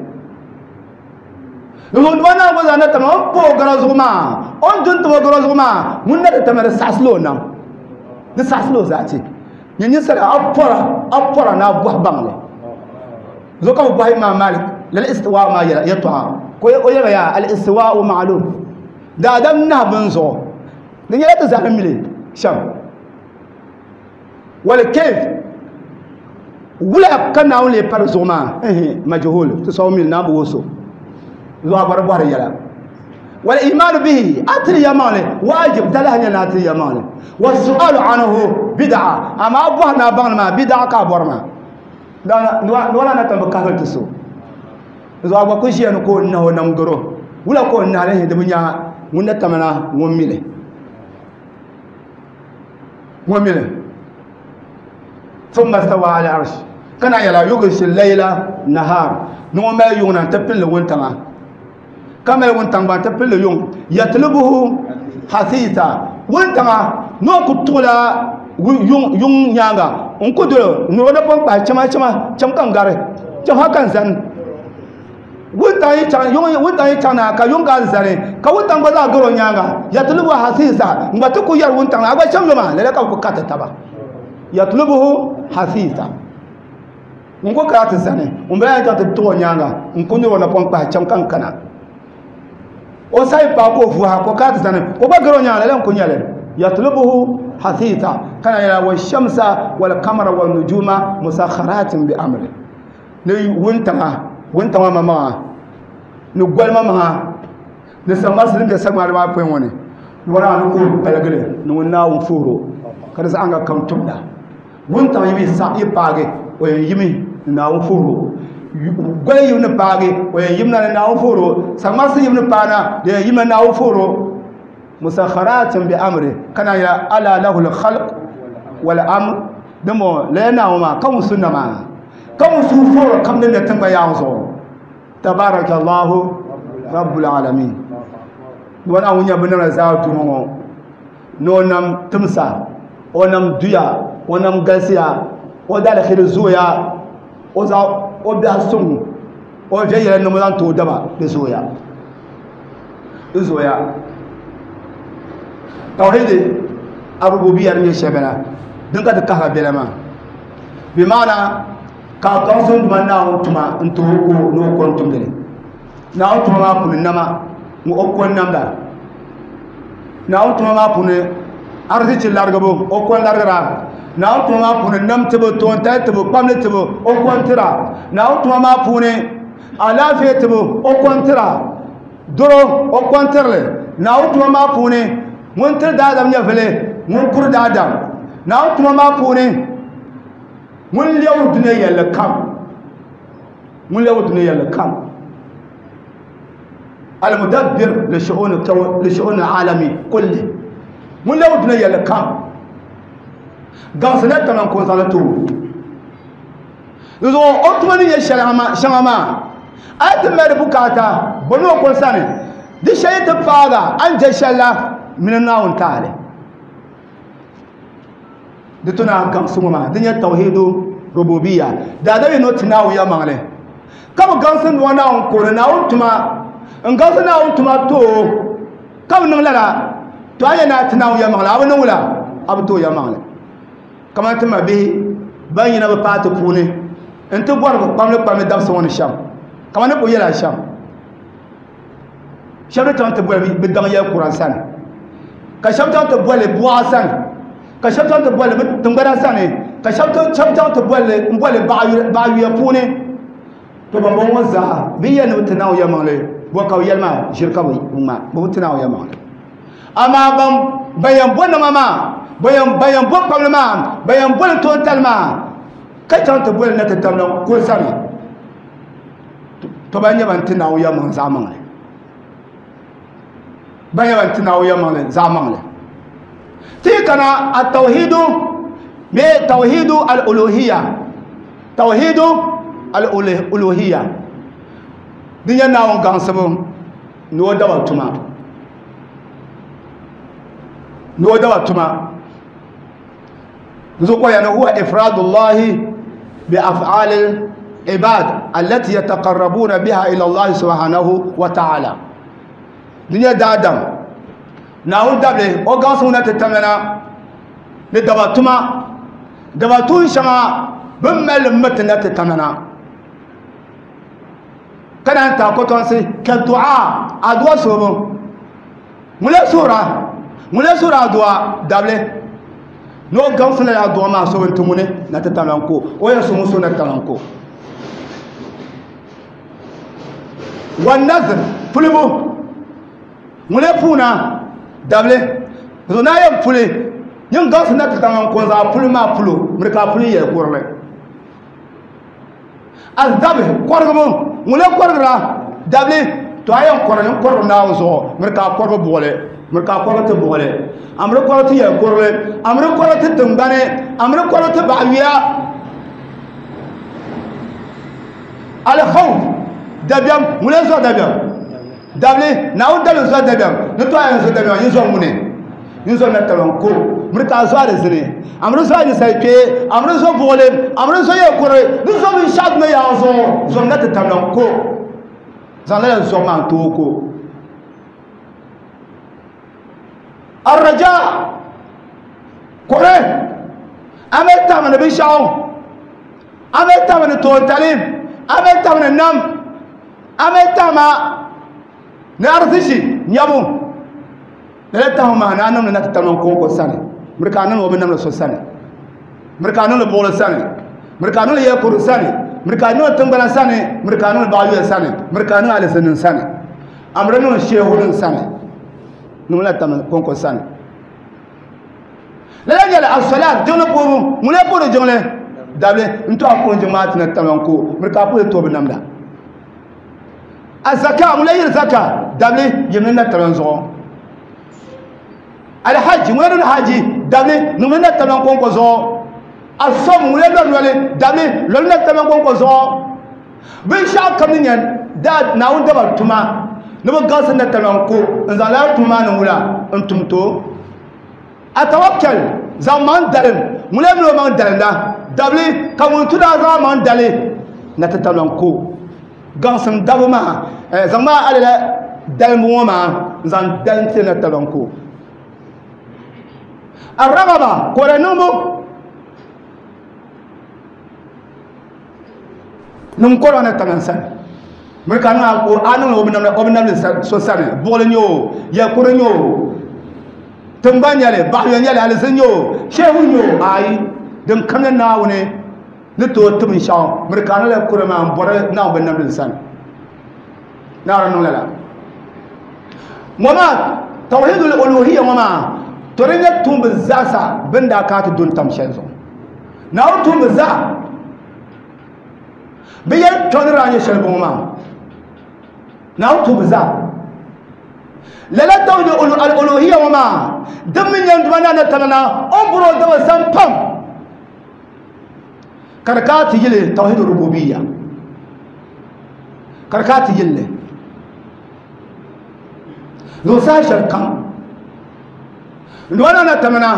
ŋun wana gba zaa na tama o pa o gara zuɣu maa o ni dun taba o gara zuɣu maa ŋun na di tama di saɣasili o nam di saɣasili o zaati nyɛ ninsala a pɔra na a bɔhi baŋli zuɣu ka bi bɔhi Imaam Malik lala istiwaa maa yɛltɔɣa ka o yɛla yaa al istiwaau ma'lum daadam nahi bin zuɣu di nyɛla ti zaa ni mili shɛm wal kayf wula ka Naawuni lee pari zuɣu maa majhul ti sɔŋ mili naa bi wuhi so zuwa bar yala wal iman bihi atri yamani wajib dalahnya na atri yamani was su'alu anhu bid'a amma abuhna bangna ma bid'a ka borma da wala na tamba ka tiso zuwa ba ku shi ko na ho nam goro wula ko na le de bunya mun na tamana ngon mile thumma stawa ala arsh kana yala yughshi al-layla nahar no ma yuna tapil wontama kama wontang ba tapil yung yatlubuhu hasita wontanga no kutula yung yung nyanga on kuduro no da pon pa chama chama cham kan gare cham hakan zan wontang yi chang yung wontang yi chang na ka yung ga zane ka wontang ba za goro nyanga yatlubu hasisa ngba to ku yar wontang agba cham ma le ka ku kata taba yatlubuhu hasisa ngo ka ta zane on ba ya ta to nyanga on na pon pa cham kan kana o sai pa ko fu ha ko ka ta zane o ba goro nyanga le ko nyale yatlubuhu hasisa kana ya wa shamsa wal qamara wan nujuma musakharatin bi amri ne wontanga mama ni gwalma ma ni samasirin da samar ma pen woni wala ni ko balagale ni wonna won furo kada sa anga kam tumda wontanga yimi sa yi paage o yimi na won furo gwal yimi ni paage o yimi na won furo samasirin yimi pana de yimi na won furo musakharatin bi amri kana ya ala lahu al khalq wal amr damo lena ma kan sunna ma kan su furo kam ne tamba ya zo tabarakallahu Rabbul alamin. Wana ŋun nyɛ binnamda zaa tumo ŋɔ ni o nam timsa, o nam duya, o nam galisiya, o daalihiri zooya, o zaŋ o biɛhi suŋ, o viɛnyɛla niŋbu zaŋ ti o daba di zooya. Di zooya. Tawhidi arububiya din nyɛ shɛli bala din ka ti kahiga bela maa. Bi maana ka a gaŋsi n duma Naawuni tuma n ti o ko ni o ko n tumdi li. Naawuni tuma maa puuni nama ŋɔ o ko n namda. Naawuni tuma maa puuni arzichi larigibu o ko n larigira. Naawuni tuma maa puuni nam tibu, toontali tibu, kpamli tibu o ko n tira. Naawuni tuma maa puuni alaafee tibu o ko n tira. Doro o ko n tirili. Naawuni tuma maa puuni ŋun tiri daadam nyɛvili, ŋun kuri daadam. Naawuni tuma maa puuni ŋun lɛbiri dunia yɛlli kam, ŋun lɛbiri dunia yɛlli kam. Al-mudabbir li shu'uni kaw li shu'uni alami kulli. Ŋun lɛbiri dunia yɛlli kam. Gaŋsi na taman ko zaŋ ti o. Zuɣu o tuma ni nyɛ shɛŋa maa, a yi ti mali bukaata bɔmi o ko sani, di shɛli ti paaga a ni je shɛli la mini Naawuni taali. Di tu na gaŋsi ŋɔ maa, di nyɛ tawhidu rububiya. Daadam yi ni o ti Naawuni yɛlimaŋli ka bi gaŋsi nua Naawuni ko ni Naawuni tuma, n gaŋsi Naawuni tuma to o ka bi niŋ lala, to a yɛn ni a ti Naawuni yɛlimaŋli, a bi niŋ wula? A bi ti o yɛlimaŋli. Kamani ti ma bihi ban yina bi paati puuni n ti bɔri bi kpamli kpamli dabisi ŋɔ ni shɛm, kamani ni kuli yɛla shɛm, shɛba ni chaŋ ti boli bi daŋ yɛli kura sani, ka shɛba chaŋ ti boli buɣa sani, ka shɛba chaŋ ti boli bi tiŋgbana sani, ka shɛba chaŋ ti boli n boli baɣa yuya puuni. To ban bɔŋɔ ŋɔ zaa bi yɛli ni bi ti Naawuni yɛlimaŋli, bɔ ka bi yɛli maa ʒiri ka bi ŋma, bi bi ti Naawuni yɛlimaŋli. Amaa ban yɛn bo nama maa, ban yɛn bo kpamli maa, ban yɛn boli toontali maa, ka chaŋ ti boli na ti tamla ko sani, to ban nyɛ ban ti Naawuni yɛlimaŋli zaɣ maŋli. Ban nyɛ ban ti Naawuni yɛlimaŋli zaɣ maŋli. Ti yi kana at-tawhidu bee tawhidu al-uluhiyya, tawhidu al-uluhiyya din nyɛ Naawuni gaŋsibu ni o daba tuma, ni o daba tuma. Zuɣu yani huwa ifradullahi bi af'ali ibad allati yataqarrabuna biha ila Allah subhanahu wa ta'ala. Din nyɛ daadam Naawuni dabili o gaŋsi ŋuna ti tamlana ni daba tuma, daba tuun shɛŋa bɛ ni mali li miriti na ti tamlana ka naan taai kɔtɔnsi ka du'a adu'a suhibu ŋun suhura, ŋun suhura adu'a dabili ni o gaŋsi lala adu'a maa suhibu n-ti ŋuni na ti tamlan ko o yɛn suhi ŋun suhi na ti tamlan ko. Wa nazir pulibu ŋun puuna dabili zuɣu naa yɛn puli nyin gaŋsi na ti tamlan ko n-zaŋ puli maa pulo miri ka a puli yɛli kurili. Azabi kɔrigibu ŋun kɔrigira dabili to a yɛn kɔri nyin kɔrigu Naawuni zuɣu miri ka a kɔrigi buɣili, miri ka a kɔrigi ti buɣili, a miri kɔrigi ti yɛli kurili, a miri kɔrigi ti tiŋgbani, a miri kɔrigi ti baɣayuya. Al-khawf dabiɛm ŋun zuɣu dabiɛm dabili Naawuni dabili zuɣu dabiɛm ni to a yɛn zuɣu dabiɛm yin zuɣu ŋuni yin zuɣu na talɔn ko miri ka a zuɣu alizini, a miri zuɣu ninsal kpee, a miri zuɣu buɣili, a miri zuɣu yɛli kurili, ni zuɣu binshaɣu duma yaa zuɣu zuɣu na ti talɔn ko zaŋ lala zuɣu maa n-tooi ko. Ar-raja kuri a mali tahima ni binshaɣu, a mali tahima ni toontali, a mali tahima ni nam, a mali tahima ni arzichi nyabu. Lala tahima maa ni a niŋdi na ti tamla n-kɔŋko sani, miri ka a niŋdi o bi namdi so sani, miri ka a niŋdi buɣili sani, miri ka a niŋdi yɛli kurili sani, miri ka a niŋdi tiŋgbana sani, miri ka a niŋdi baɣayuya sani, miri ka a niŋdi alizinnim sani, a miri niŋdi sheehunim sani, niŋmi na tamla kɔŋko sani. Lala nyɛla as-salat jiŋli puhibu, ŋun lee puhiri jiŋli dabili n-to a puhi jiŋ maa ti na tamla n-ko, miri ka a puhi tooi bi namda. Az-zaka ŋun lee yiri zaka dabili yimli na tamla zuɣu. Al-hajj ŋun lee niŋdi haji dabili niŋmi na tamla kɔŋko zuɣu. As-sawm ŋun lee lɔri noli dabili lɔri na tamla kɔŋko zuɣu. Binshɛɣu kam ni nyɛ Naawuni daba tuma Ni bi gaŋsi na talɔŋ ko n zaŋ lala tuma maa niŋ wula n tum to a tawakkal zaŋ maŋ dalim ŋun lee mini o maŋ dalimda dabili ka ŋun tu daa zaŋ maŋ dali na ti talɔŋ ko gaŋsim dabu maa zaŋ maa alala dalimbu ŋɔ maa n zaŋ dalim ti na talɔŋ ko a ragaba kore niŋbu niŋ kɔrɔ na taŋa sani miri ka niŋ a niŋ o bi namdi so sani buɣuli nyɛ o yɛlkuri nyɛ o tingbani nyɛli baɣayɔ nyɛli alizin nyɛ o shehu nyɛ o ayi din kam nyɛ Naawuni ni tooi ti binshaɣu miri ka niŋla kuri maa n bɔri Naawuni bi namdi sani Naawuni niŋ lala ŋɔ maa tawhidul uluhiyya ŋɔ maa to di nyɛ tuumbi zaasa bin daa kana ti du n tam shɛli zuɣu Naawuni tuumbi zaa bi yɛli kpɛŋ ni daa nyɛ shɛli bɔŋɔ maa Naawuni tuumbi zaa lala tawhid al-uluhiyya ŋɔ maa din mi nyɛ duma na tana na o ni bɔri o daba zam pam ka di kana ti yili tawhid rububiyya ka di kana ti yili zuɣusaa shɛli kam duma na tana na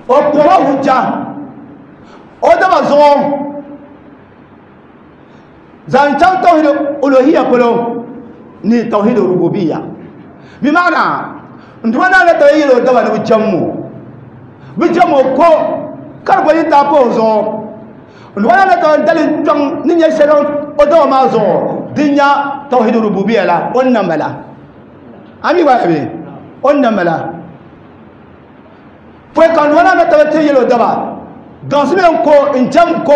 o kpɔma hujja o daba zuɣu zaŋ chaŋ tawhid uluhiyya polo ni tawhid rububiyya bi maana n duma naa na tabi yɛli o daba ni bi jɛmmo bi jɛmmo ko ka di gba yi taa pa o zuɣu n duma naa na tabi dali kpɛŋ ni nyɛ shɛli o daba maa zuɣu din nya tawhid rububiyya la o ni na mala a mi gba bɛ o ni na mala pɔi ka n duma naa na tabi ti yɛli o daba gaŋsi mi n ko n jɛm ko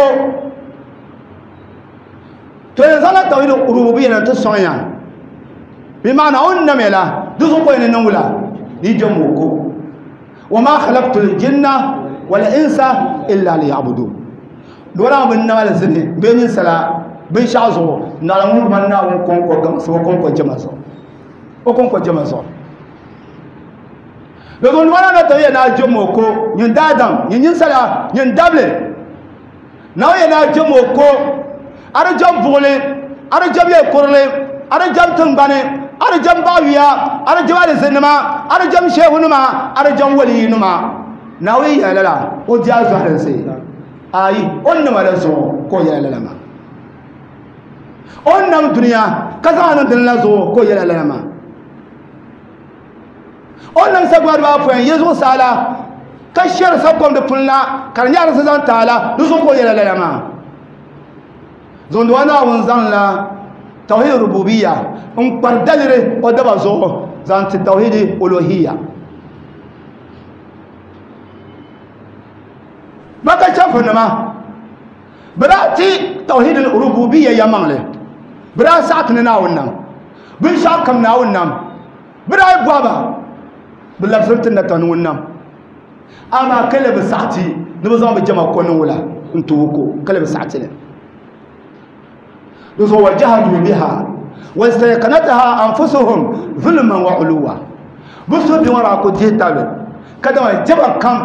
to yɛn zaŋla tawhid rububiyya na ti sɔŋ ya bi maana o ni namya la di zuɣu ka o yɛn niŋ wula ni jɛm o ko wa ma khalaqtu l-jinna wal insa illa liya'budun dɔla bi nama li zini bee ninsala binshaɣu zuɣu naɣila ŋun duuma Naawuni kɔŋko gaŋsi o kɔŋko jɛma zuɣu o kɔŋko jɛma zuɣu di zuɣu dɔla na tabi yɛn na jɛm o ko nyin daadam nyin ninsala nyin dabili Naawuni yɛn na jɛm o ko a di jɛm buɣuli a di jɛm yɛlkurili a di jɛm tiŋgbani a di jɛm baɣayuya a di jɛm alizinnima a di jɛm shehunima a di jɛm waliyinima Naawuni yɛla lala o di a zɔhilinsi ayi o ni nama la zuɣu ka o yɛla lala maa o ni nam duniya ka zaŋ niŋ dini la zuɣu ka o yɛla lala maa o ni nam sagbana dibaa ayopɔin yili zuɣusaa la ka shɛri sakom di puni la ka di nyɛ arisi zaŋ taai la di zuɣu ka o yɛla lala maa zuŋdiwa Naawuni zaŋla tawhid rububiyya n kpari daliri o daba zuɣu zaŋ ti tawhid uluhiyya Maka chɛfurinima bi daa ti tawhid rububiyya yɛlimaŋli bi daa saɣati ni Naawuni nam binshaɣu kam Naawuni nam bi daa yi bɔhi ba bi labisiri ti na tani ŋun nam amaa ka le bi saɣati ni bi zaŋ bi jɛma ko niŋ wula n ti o ko ka le bi saɣati li di zuɣu wa jahadu biha wastayqanataha anfusuhum zulman wa uluwa bi suhu bi ŋɔ daa ku dihi tabili ka dama jɛma kam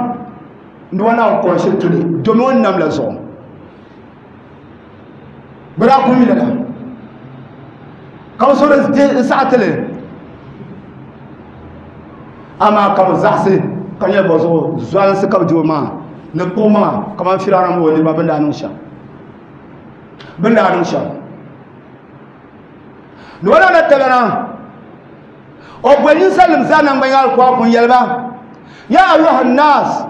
n duma Naawuni kɔŋ shili tuli domi o ni nam la zuɣu bi daa ku mi lala ka bi suhuri n saɣati li amaa ka bi zaɣasi ka nyɛ bɔ zuɣu zualinsi ka bi di o maŋa ni kpuɣi maŋa kamani Firawuna mini o niriba bini daa niŋ shɛm bini daa niŋ shɛm ni o na tabana o boli ninsalinima zaa nangbani yaɣali ka o kun yɛli ba ya ayuha nnas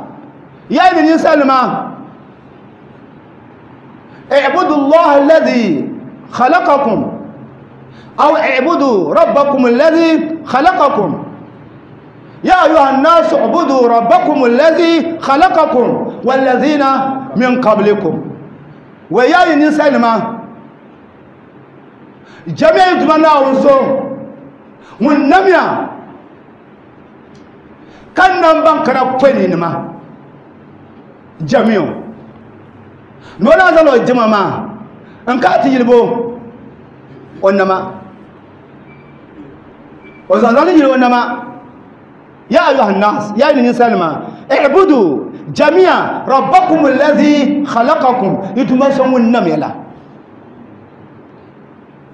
ya yi ni ninsalinima اعبدوا الله الذي خلقكم أو اعبدوا ربكم الذي خلقكم يا أيها الناس اعبدوا ربكم الذي خلقكم والذين من قبلكم ويا الإنسان ما جميع دمنا ونسو ونميا كان نمبان كنا قويني نما جميع نولا زالو جمع ما انكاتي يلبو ونما وزالو يلبو ونما يا أيها الناس يا أيها الإنسان ما اعبدوا جميعا ربكم الذي خلقكم يتمسون النم يلا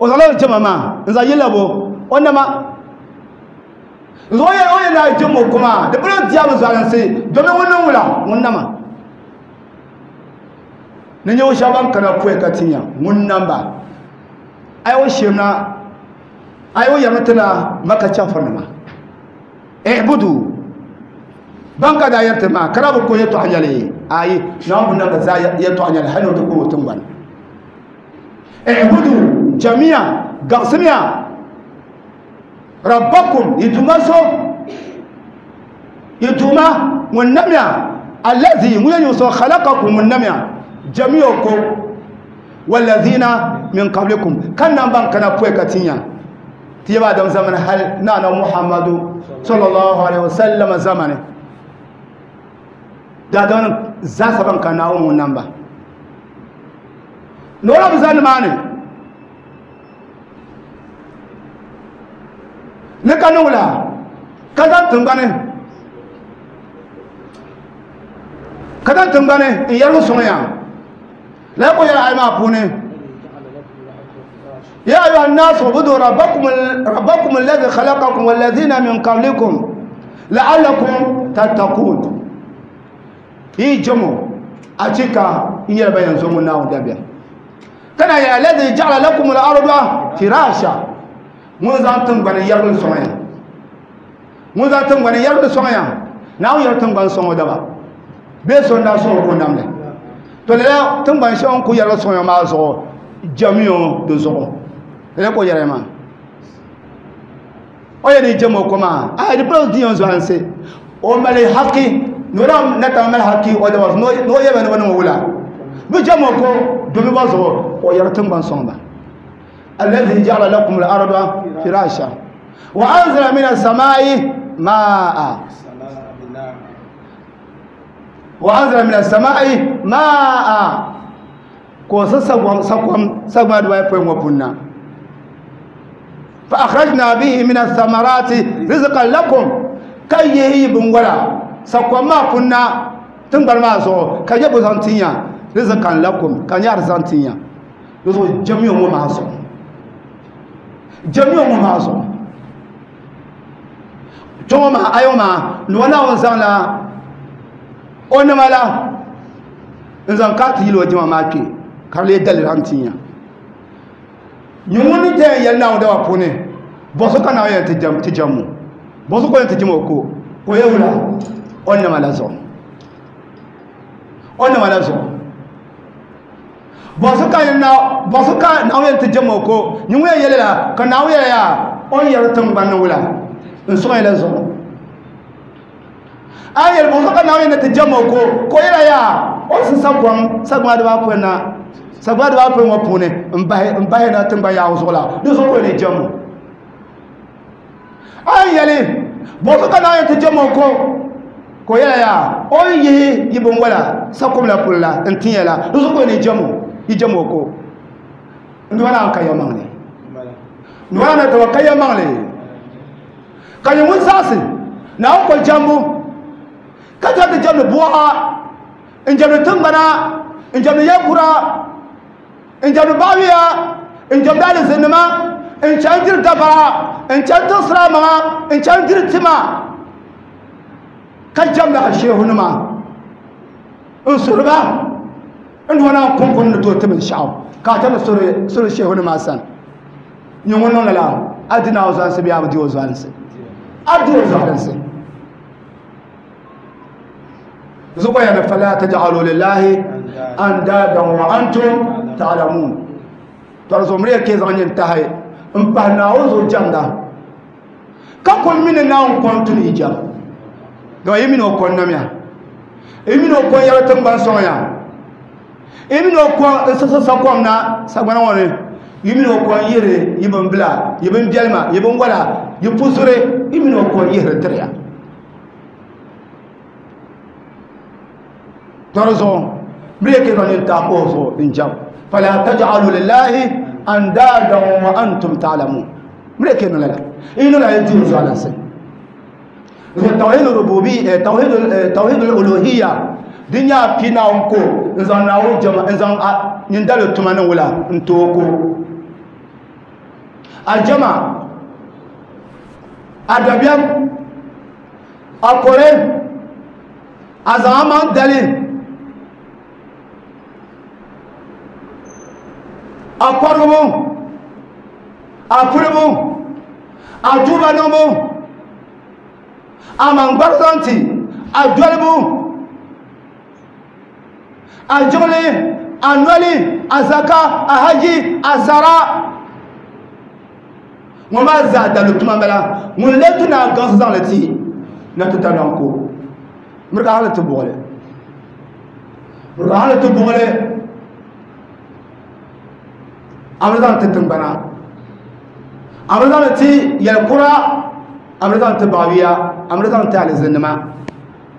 O zaŋla jama maa n zaŋ yili bo o nama. Zoya o yɛn na jama kuma di bolo diabu zalinsi domin ŋun wula ŋun nama. Ni nyɛ shɛba ban kana pɔi ka tinya ŋun namba. Ai o shemna ai o yɛrimi tina Maka chɛfurinima. Ibudu ban ka daa yɛriti maa kara bi ko yɛltɔɣa nyɛli ayi Naawuni bi namba zaa yɛltɔɣa nyɛli hali ni o ti kuri o tiŋgbani. Ibudu jamiya gaɣisimiya rabbakum yituma so yituma ŋun namya allazi ŋun yɛn so khalaqakum ŋun namya jamiya ko wallazina min qablikum kan nan ban kana pɔi ka tinya ti yaba Adam zamani hal nana Muhammadu sallallahu alaihi wasallam zamani da don za saban ka nawo mun nan ba nora bi zani mani ne ka nula ka zan tingbani in yargu suŋya la ko yara ay ma puni يا أيها الناس اعبدوا ربكم الذي خلقكم والذين من قبلكم لعلكم تتقون. يجمو أتيكا يربا ينزمون ناو دبيا كان يا الذي جعل لكم الأرض فراشا منزان تنغني يرغن سويا منزان تنغني يرغن سويا ناو ير تنغن سويا دبا بيسون دا سو كو نامله to le تنغن سويا كو يرغن سويا ما زو jamiyo do zuɣu le ko yɛrɛ ma o yɛ ni jamo kuma a di polo diyan zuɣansi o mali haki nora na ta mali haki o da no no yɛbɛ ni wani wula bi jamo ko domi ba zuɣu o yɛrɛ tiŋgbani sɔŋ ba alladhi ja'ala lakum al-arda firasha wa anzala min as-sama'i ma'a wa anzala min as-sama'i ma'a ko sakwam sagwa duwa po ngo punna fa akhrajna bihi min ath-thamarati rizqan lakum kayyi bungwala sakwam ma punna tingbar ma so kaje bo zantinya rizqan lakum kanyar zantinya yozo jamiyo mo ma so jamiyo mo ma so choma ayoma no wana on zanla onamala nzan ka ti yilo jama ma ke karle dalil hantinya nyumuni te yalla wa dawa pone boso kana ya tijam tijamu boso ko tijamu ko ko yewla onna malazo onna malazo boso kana boso ka na ya tijamu ko nyumu yelela kana ya ya on yar tan wala in so ila zo ayel boso kana ya tijamu ko ko yela ya on sakwam sagwa da pona sagwa da po ngo pune mbahe na tingba ya uzola do so ko ne jamu ayele bo ka na te jamu ko ko yela ya on yi yibon wala sakum la pulla ntiyela do so ko ne jamu yi jamu ko ndwana ka yamangle ndwana to ka yamangle ka yumun sasi na ko jambu ka ta jamu bu'a in jamu tingbana in jamu yakura in jamu bawiya in jamu dalizinima in canjir dabara in canjir siramama in canjir tima ka jamda a shehunima in surba in wana kunkun da to timin sha'aw ka ta da suru shehunima san yin wannan lala adina wa zansu biya abdi wa zansu abdi wa zansu zuwa yana fala taj'alu lillahi andadan wa antum ta'lamun tarzo mriya ke zanyin tahai in pa na ozo janda ka kon min na on kontun ijam ga yimi no kon namya yimi no kon yara tan ban sonya yimi no kon sa sa kon na sagbana woni yimi no kon yere yibin bla yibin bielma yibin wala yipusure yimi no kon yere triya tarzo mriya ke zanyin ta ozo injam fala taj'alu lillahi andadan wa antum ta'lamun mriya ke no la inu la yati zuwa sai tawhid rububiyya tawhid uluhiyya dunya pina onko nzan na o jama nzan nyindalo tumani wala ntoko A jama, a dabiɛm, a kore, a zaŋ a maŋ dali, a kɔrigibu, a pulibu, a tuuba niŋbu, a maŋgbari zaŋ ti, a dolibu, a jiŋli, a noli, a zaka, a haji, a sara. Ŋɔ maa zaa daliri tuma m-bala. Ŋun lee tu ni a gaŋsi zaŋ li ti na ti ta nɔŋ ko. Miri ka hali ti buɣili. Miri ka hali ti buɣili. A bi zaŋ ti tiŋgbana. A bi zaŋ li ti yɛlikura. A bi zaŋ ti baɣibiya. A bi zaŋ ti alizinnima.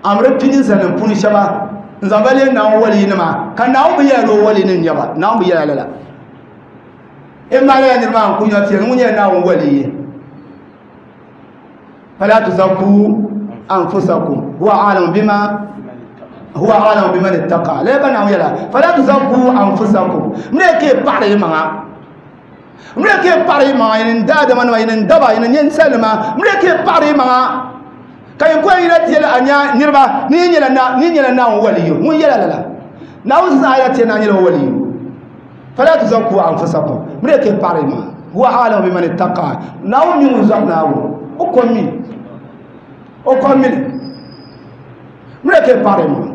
A bi pini ninsalinima puuni shɛba n-zaŋ ba leei Naawuni waliyinima ka Naawuni bi yɛla ni o waliyinim n-nyɛ ba. Naawuni bi yɛla lala. In maa lala niriba maa n-kuli nya ti yɛli ŋun nyɛla Naawuni waliyi. Fala tuzakku anfusakum huwa a'lamu bima huwa a'lamu biman ittaqa. Lala ka Naawuni yɛla fala tuzakku anfusakum. Miri ka yi paɣiri yi maŋa. Miri ka yi paɣiri yi maŋa, yini daadama nima, yini daba, yini ninsalinima. Miri ka yi paɣiri yi maŋa. Ka yi kuli yina ti yɛli a nya niriba ni yi nyɛla na, ni yi nyɛla Naawuni waliyu. Ŋun yɛla lala. Naawuni zaa yɛla ti yɛli ni a nyɛla o waliyu. Fala tuzakku anfusakum. Miri ka yi paɣiri yi maŋa. Huwa a'lamu biman ittaqa. Naawuni mi ŋun zɔri Naawuni. O ko mi. O ko mi li. Miri ka yi paɣiri yi maŋa.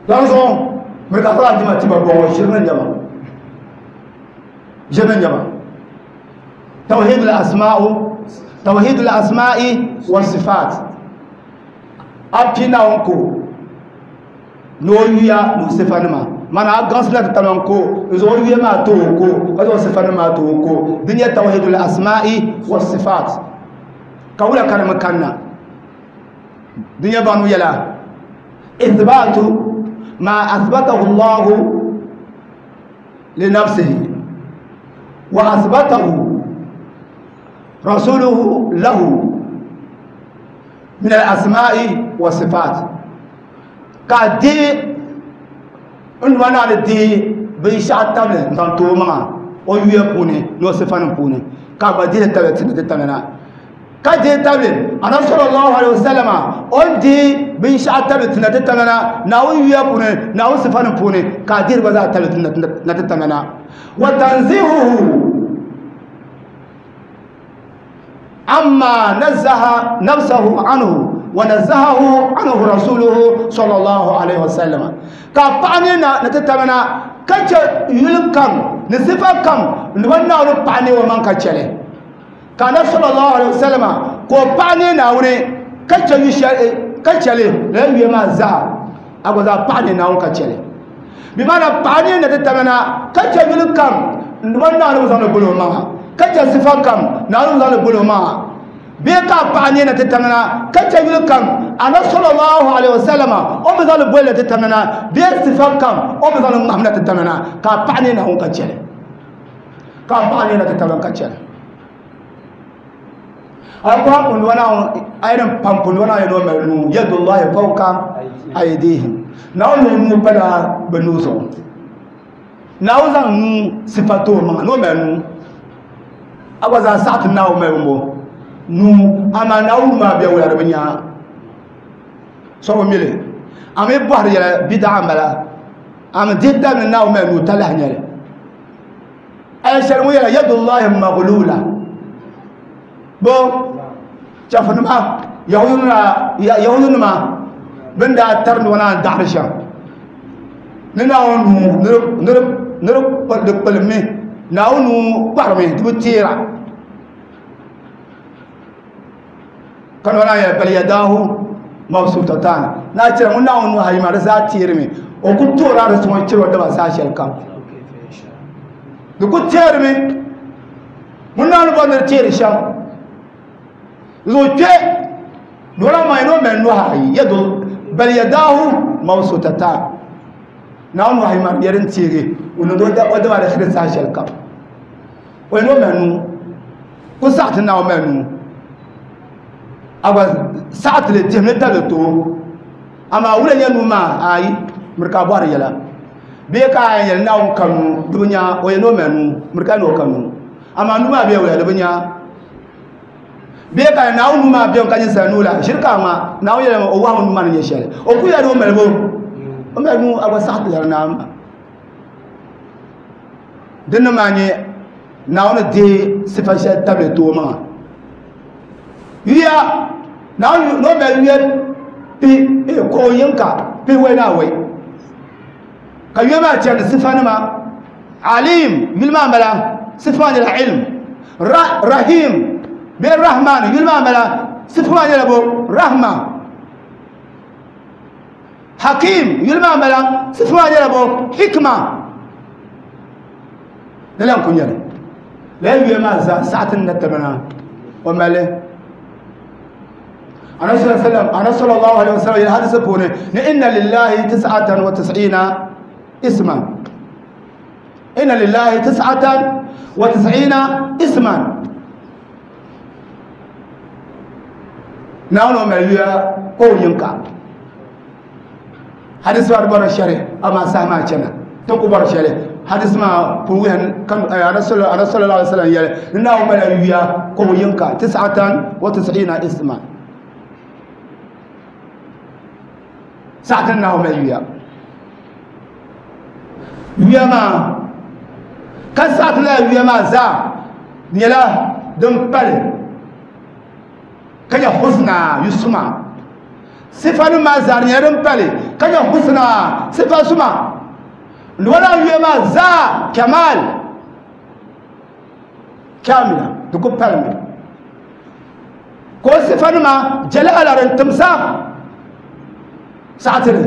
Lala zuɣu miri ka a dima ti ba bɔŋɔ ʒiri ni nyɛba. Ʒiri ni nyɛba. Tawhid al-asma'u, tawhid al-asma'i wa sifat. A pi Naawuni ko ni o yuya ni o sifanima. Mana a gaŋsi na ti tamaŋ ko n zaŋ o yuya maa ti o ko ka zaŋ o sifanima maa ti o ko. Di nyɛ tawhid al-asma'i wa sifat. Ka wula ka di mi kanna? Di nyɛ baŋ yɛla ithbatu ma athbatahu Allahu li nafsihi wa athbatahu rasuluhu lahu min al-asma'i wa sifat. Ka di n nua naa ni di binshɛɣu tabili n zaŋ ti o maŋa o yuya puuni ni o sifanim puuni ka gba dihili tabili ti ni ti tabili na. Ka dihi tabili Anabi sallallahu alaihi wasallam o ni dihi binshɛɣu tabili ti na ti tabili na Naawuni yuya puuni Naawuni sifanim puuni ka a dihiri gba zaa tabili ti na ti tabili na. Wa tanzihuhu amma nazzaha nafsahu anhu wa nazzahahu anhu rasuluhu sallallahu alaihi wasallam. Ka paɣa ni na ni ti tabili na ka chɛ yuli kam ni sifa kam ni ba Naawuni paɣa ni o maŋ ka chɛli. Ka Anabi sallallahu alaihi wasallam ka o paɣa ni Naawuni ka chɛ yu shɛli ka chɛli lala yuya maa zaa a gba zaa paɣa ni Naawuni ka chɛli. Bi maana paɣa ni na ti tabili na ka chɛ yuli kam ni ba Naawuni bi zaŋdi boli o maŋa ka chɛ sifa kam Naawuni bi zaŋdi boli o maŋa. Bee ka paɣa ni na ti tabili na ka chɛ yuli kam Anabi sallallahu alaihi wasallam o bi zaŋdi boli na ti tabili na bee sifa kam o bi zaŋdi ŋmahim na ti tabili na ka paɣa ni Naawuni ka chɛli. Ka paɣa ni na ti tabili ka chɛli. Alquran kundu wana ayran pam kundu wana yano mali nuu yadullahi fawqa aydihim. Naawuni nuu pala bɛ nuu zuɣu. Naawuni zaŋ nuu sifa ti o maŋa ni o mali nuu. A gba zaa saɣi ti Naawuni mali ŋɔ nuu, amaa Naawuni nuu maa bɛ wula di bi nya. So bi mi li. A mi bɔhiri yɛla bidaa m-bala. A mi dihi tabili ni Naawuni mali nuu talahi nyɛli. Aya shɛli ŋun yɛla yadullahi maghlula. Bo chɛfurinima Yahudunima bɛn daa tari nua naan daɣiri shɛm ni Naawuni nuu ni di kpalimi Naawuni nuu kparimi di bi teera ka nua naan yɛli bal yadahu mabsutatan naa chɛri ŋun Naawuni nuhi ayi maa di zaa teerimi o ku toori a di suŋ chɛri o daba saha shɛli kam di ku teerimi ŋun Naawuni bɔri ni di teeri shɛm zuɣu kpe nua maa ni o mali nuhi ayi yadu bal yadahu mabsutatan Naawuni nuhi ayi maa di nyɛla din teegi o niŋdi o daba di shiri saha shɛli kam o ni o mali nuu ku saɣi ti Naawuni mali nuu a gba saɣi ti li dihimi tabili ti o amaa wula nyɛ nuu maa ayi miri ka a bɔhiri yɛla Bee ka a yɛli Naawuni ka nuu, di bi nya, o yɛli ni o mali nuu, miri ka ni o ka nuu. Amaa nuu maa bee wula, di bi nya. Bee ka Naawuni nuu maa bemi ka ninsal nuu la, ʒiri ka a ŋma, Naawuni yɛlimi o wahu nuu maa ni nyɛ shɛli. O ku yɛli ni o mali bo, o mali nuu, a gba saɣi ti lari Naawuni maa. Dinni maa nyɛ Naawuni deei sifa shɛli tabili ti o maŋa. Yuya, Naawuni ni o mali yuya pi, ko yinka, pi wei ni awei. Ka yuya maa chani sifanima. Alim, yuli maa m-bala, sifa maa nyɛla ilm. Rahim, bee Rahman, yuli maa m-bala, sifa maa nyɛla bo, Rahma. Hakim, yuli maa m-bala, sifa maa nyɛla bo, Hikma. Lala n-ku nyɛli. Lala yuya maa zaa saɣiti ni na tabana o mali. Annabi sallallahu alaihi wasallam, Annabi sallallahu alaihi wasallam yɛli hadisi puuni ni inna lillahi tis'atan wa tis'ina isman. Inna lillahi tis'atan wa tis'ina isman. Naawuni o mali yuya ko yinka. Hadisi maa di bɔri shɛli amaa saha maa chana ti ku bɔri shɛli. Hadisi maa pun wuhi kan Annabi sallallahu alaihi wasallam yɛli ni Naawuni mali yuya ko yinka tis'atan wa tis'ina isman. Saɣati ni Naawuni mali yuya. Yuya maa ka saɣati lala yuya maa zaa nyɛla din pali ka nyɛ husna yusuma. Sifanim maa zaa nyɛla din pali ka nyɛ husna sifa suma. Wala yuya maa zaa kamal kamila di ku palimi ka o sifanima jalala din timsa saɣatili.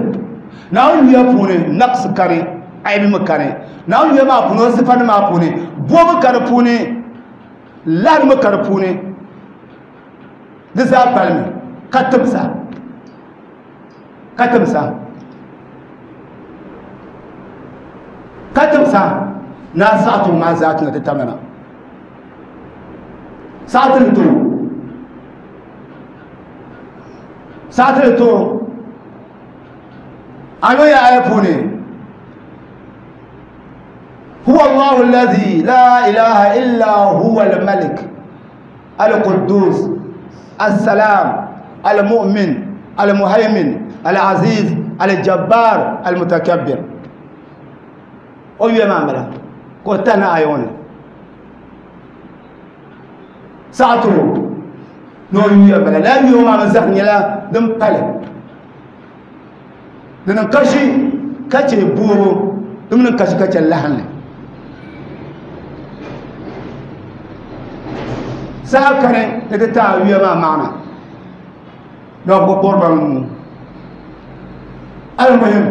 Naawuni yuya puuni naqs kani, aibi mi kani. Naawuni yuya maa puuni o sifanima maa puuni boobu ka di puuni, lahiri mi ka di puuni, di zaa palimi ka timsa, ka timsa, ka timsa. Naa saɣati maa zaa ti na ti tamina. Saɣati ni to, saɣati ni to. Ano ya aya puuni huwa Allahu alladhi la ilaha illa huwa al-malik al-quddus as-salam al-mu'min al-muhaymin al-aziz al-jabbar al-mutakabbir. O yuya maa m-bala ka o tana aya ŋɔ ni saɣati o ni o yuya m-bala. Lala yuya ŋɔ maa mi zahim nyɛla din pali, di niŋ kashi ka chɛ boobu, di mi niŋ kashi ka chɛ lahinli. Saha kani ni ti taai yuya maa maana ni bi ku kpuɣiri ba nuu. Almuhim,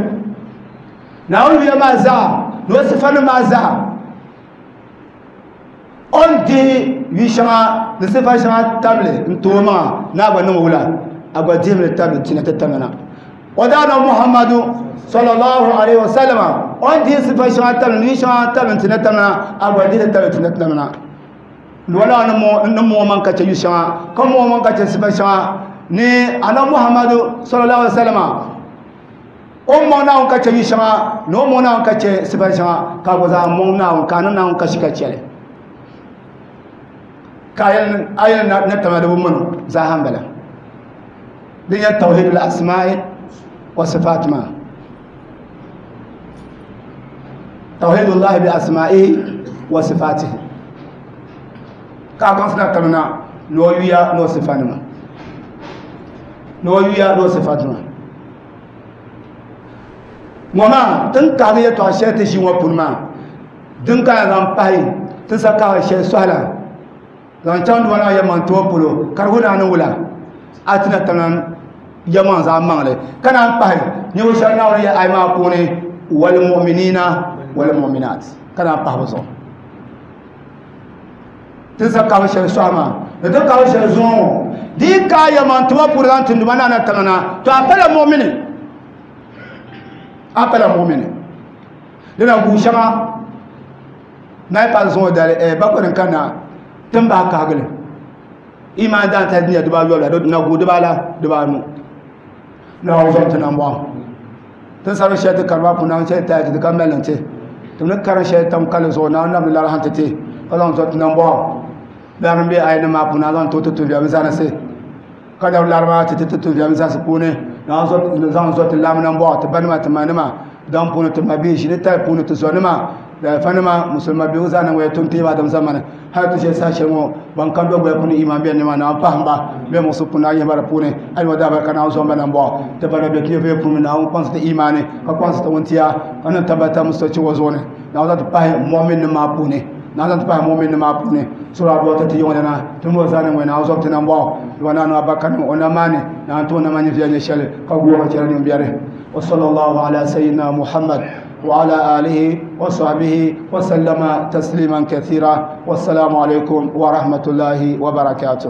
Naawuni yuya maa zaa ni o sifanim maa zaa o ni dihi yu shɛŋa ni sifa shɛŋa tabili n ti o maŋa ni a gba niŋ wula, a gba dihimi li tabili tina ti tamina. O daa na Muhammadu sallallahu alaihi wasallam o ni dihi sifa shɛŋa tabili ni yu shɛŋa tabili n tina tamina, a gba dihi li tabili tina ti tamina. Wala ni mo man ka chɛ yu shɛŋa ka mo man ka chɛ sifa shɛŋa ni ana Muhammadu sallallahu alaihi wasallam o mɔŋ Naawuni ka chɛ yu shɛŋa ni o mɔŋ Naawuni ka chɛ sifa shɛŋa ka gba zaa mɔŋ Naawuni ka a niŋ Naawuni kashi ka chɛli ka a yɛli na tama di bi mɔno zaa ha m-bala. Din nyɛ tawhidul asma'i wa sifat maa, tawhidullahi bi asma'ihi wa sifatihi, ka a gaŋsi na tamina ni o yuya ni o sifanima, ni o yuya ni o sifanima. Ŋɔ maa tin kahigi yɛltɔɣa shɛli ti ʒi ŋɔ puuni maa din ka zaŋ pahi ti sa kahigi shɛli sɔhila zaŋ chaŋ duma naa yɛlimaŋ tuma polo ka di wuhi naa ni wula a ti na tamina yɛlimaŋ zaa maŋli ka naan pahi ninvuɣ shɛba Naawuni yɛli ayi maa puuni wal mu'minina wal mu'minat ka naan pahi bɛ zuɣu. Ti sa kahigi shɛli sɔhi maa ni ti kahigi shɛli zuŋɔ ŋɔ di yi ka yɛlimaŋ tuma puuni zaŋ ti duma naa na tamina to a pala mu'mini, a pala mu'mini. Dina guui shɛŋa na yi paai zuŋɔ dali, bakɔi din kanna ti ni bahi kahigili imaan daantali din nyɛ dibaayɔbu la, na guui dibaala dibaanu. Naawuni zɔm ti nambɔɣu. Tin sari shɛli ti kari maa puuni naawuni chɛli taali ti ti ka mali niŋ ti. Ti ni karim shɛli tam kali zuɣu naawuni namdi lari han ti ti ka zaŋ zɔ ti nambɔɣu. Biɛri din be aya nim maa puuni naawuni zaŋ ti ti tuhi viɛlim zanisi ka dabi lari maa ti ti ti tuhi viɛlim zanisi puuni naawuni zaŋ zɔ ti laami nambɔɣu ti banima ti manima daŋ puuni ti mabihi ʒini tali puuni ti zɔnima dalifanima musulima bihi zaa niŋ waya tum teema adam zamani hali ti shɛli saha shɛli ŋɔ ban kan do gbaya puuni iman bɛni nima naawuni pahim ba bɛ muɣusigu puuni naawuni yihi ba di puuni hali wa daabari ka naawuni zɔn ba nambɔɣu ti bana bɛ ti nyɛvuya puuni naawuni kpaŋsi ti imani ka kpaŋsi ti wuntia ka niŋ tabbata musulchi ŋɔ zuɣu ni naawuni zaŋ ti pahi mu'min nim maa puuni naawuni zaŋ ti pahi mu'min nim maa puuni sura aduwa ti ti yiŋɔ lana ti ni zaa niŋ waya naawuni zɔn ti nambɔɣu wa naanu abaka niŋ o namaani naawuni ti o nama nyɛ viɛl nyɛ shɛli ka gooi ka chɛli niŋ biɛri. وصلى الله على سيدنا محمد وعلى آله وصحبه وسلم تسليما كثيرا. والسلام عليكم ورحمة الله وبركاته.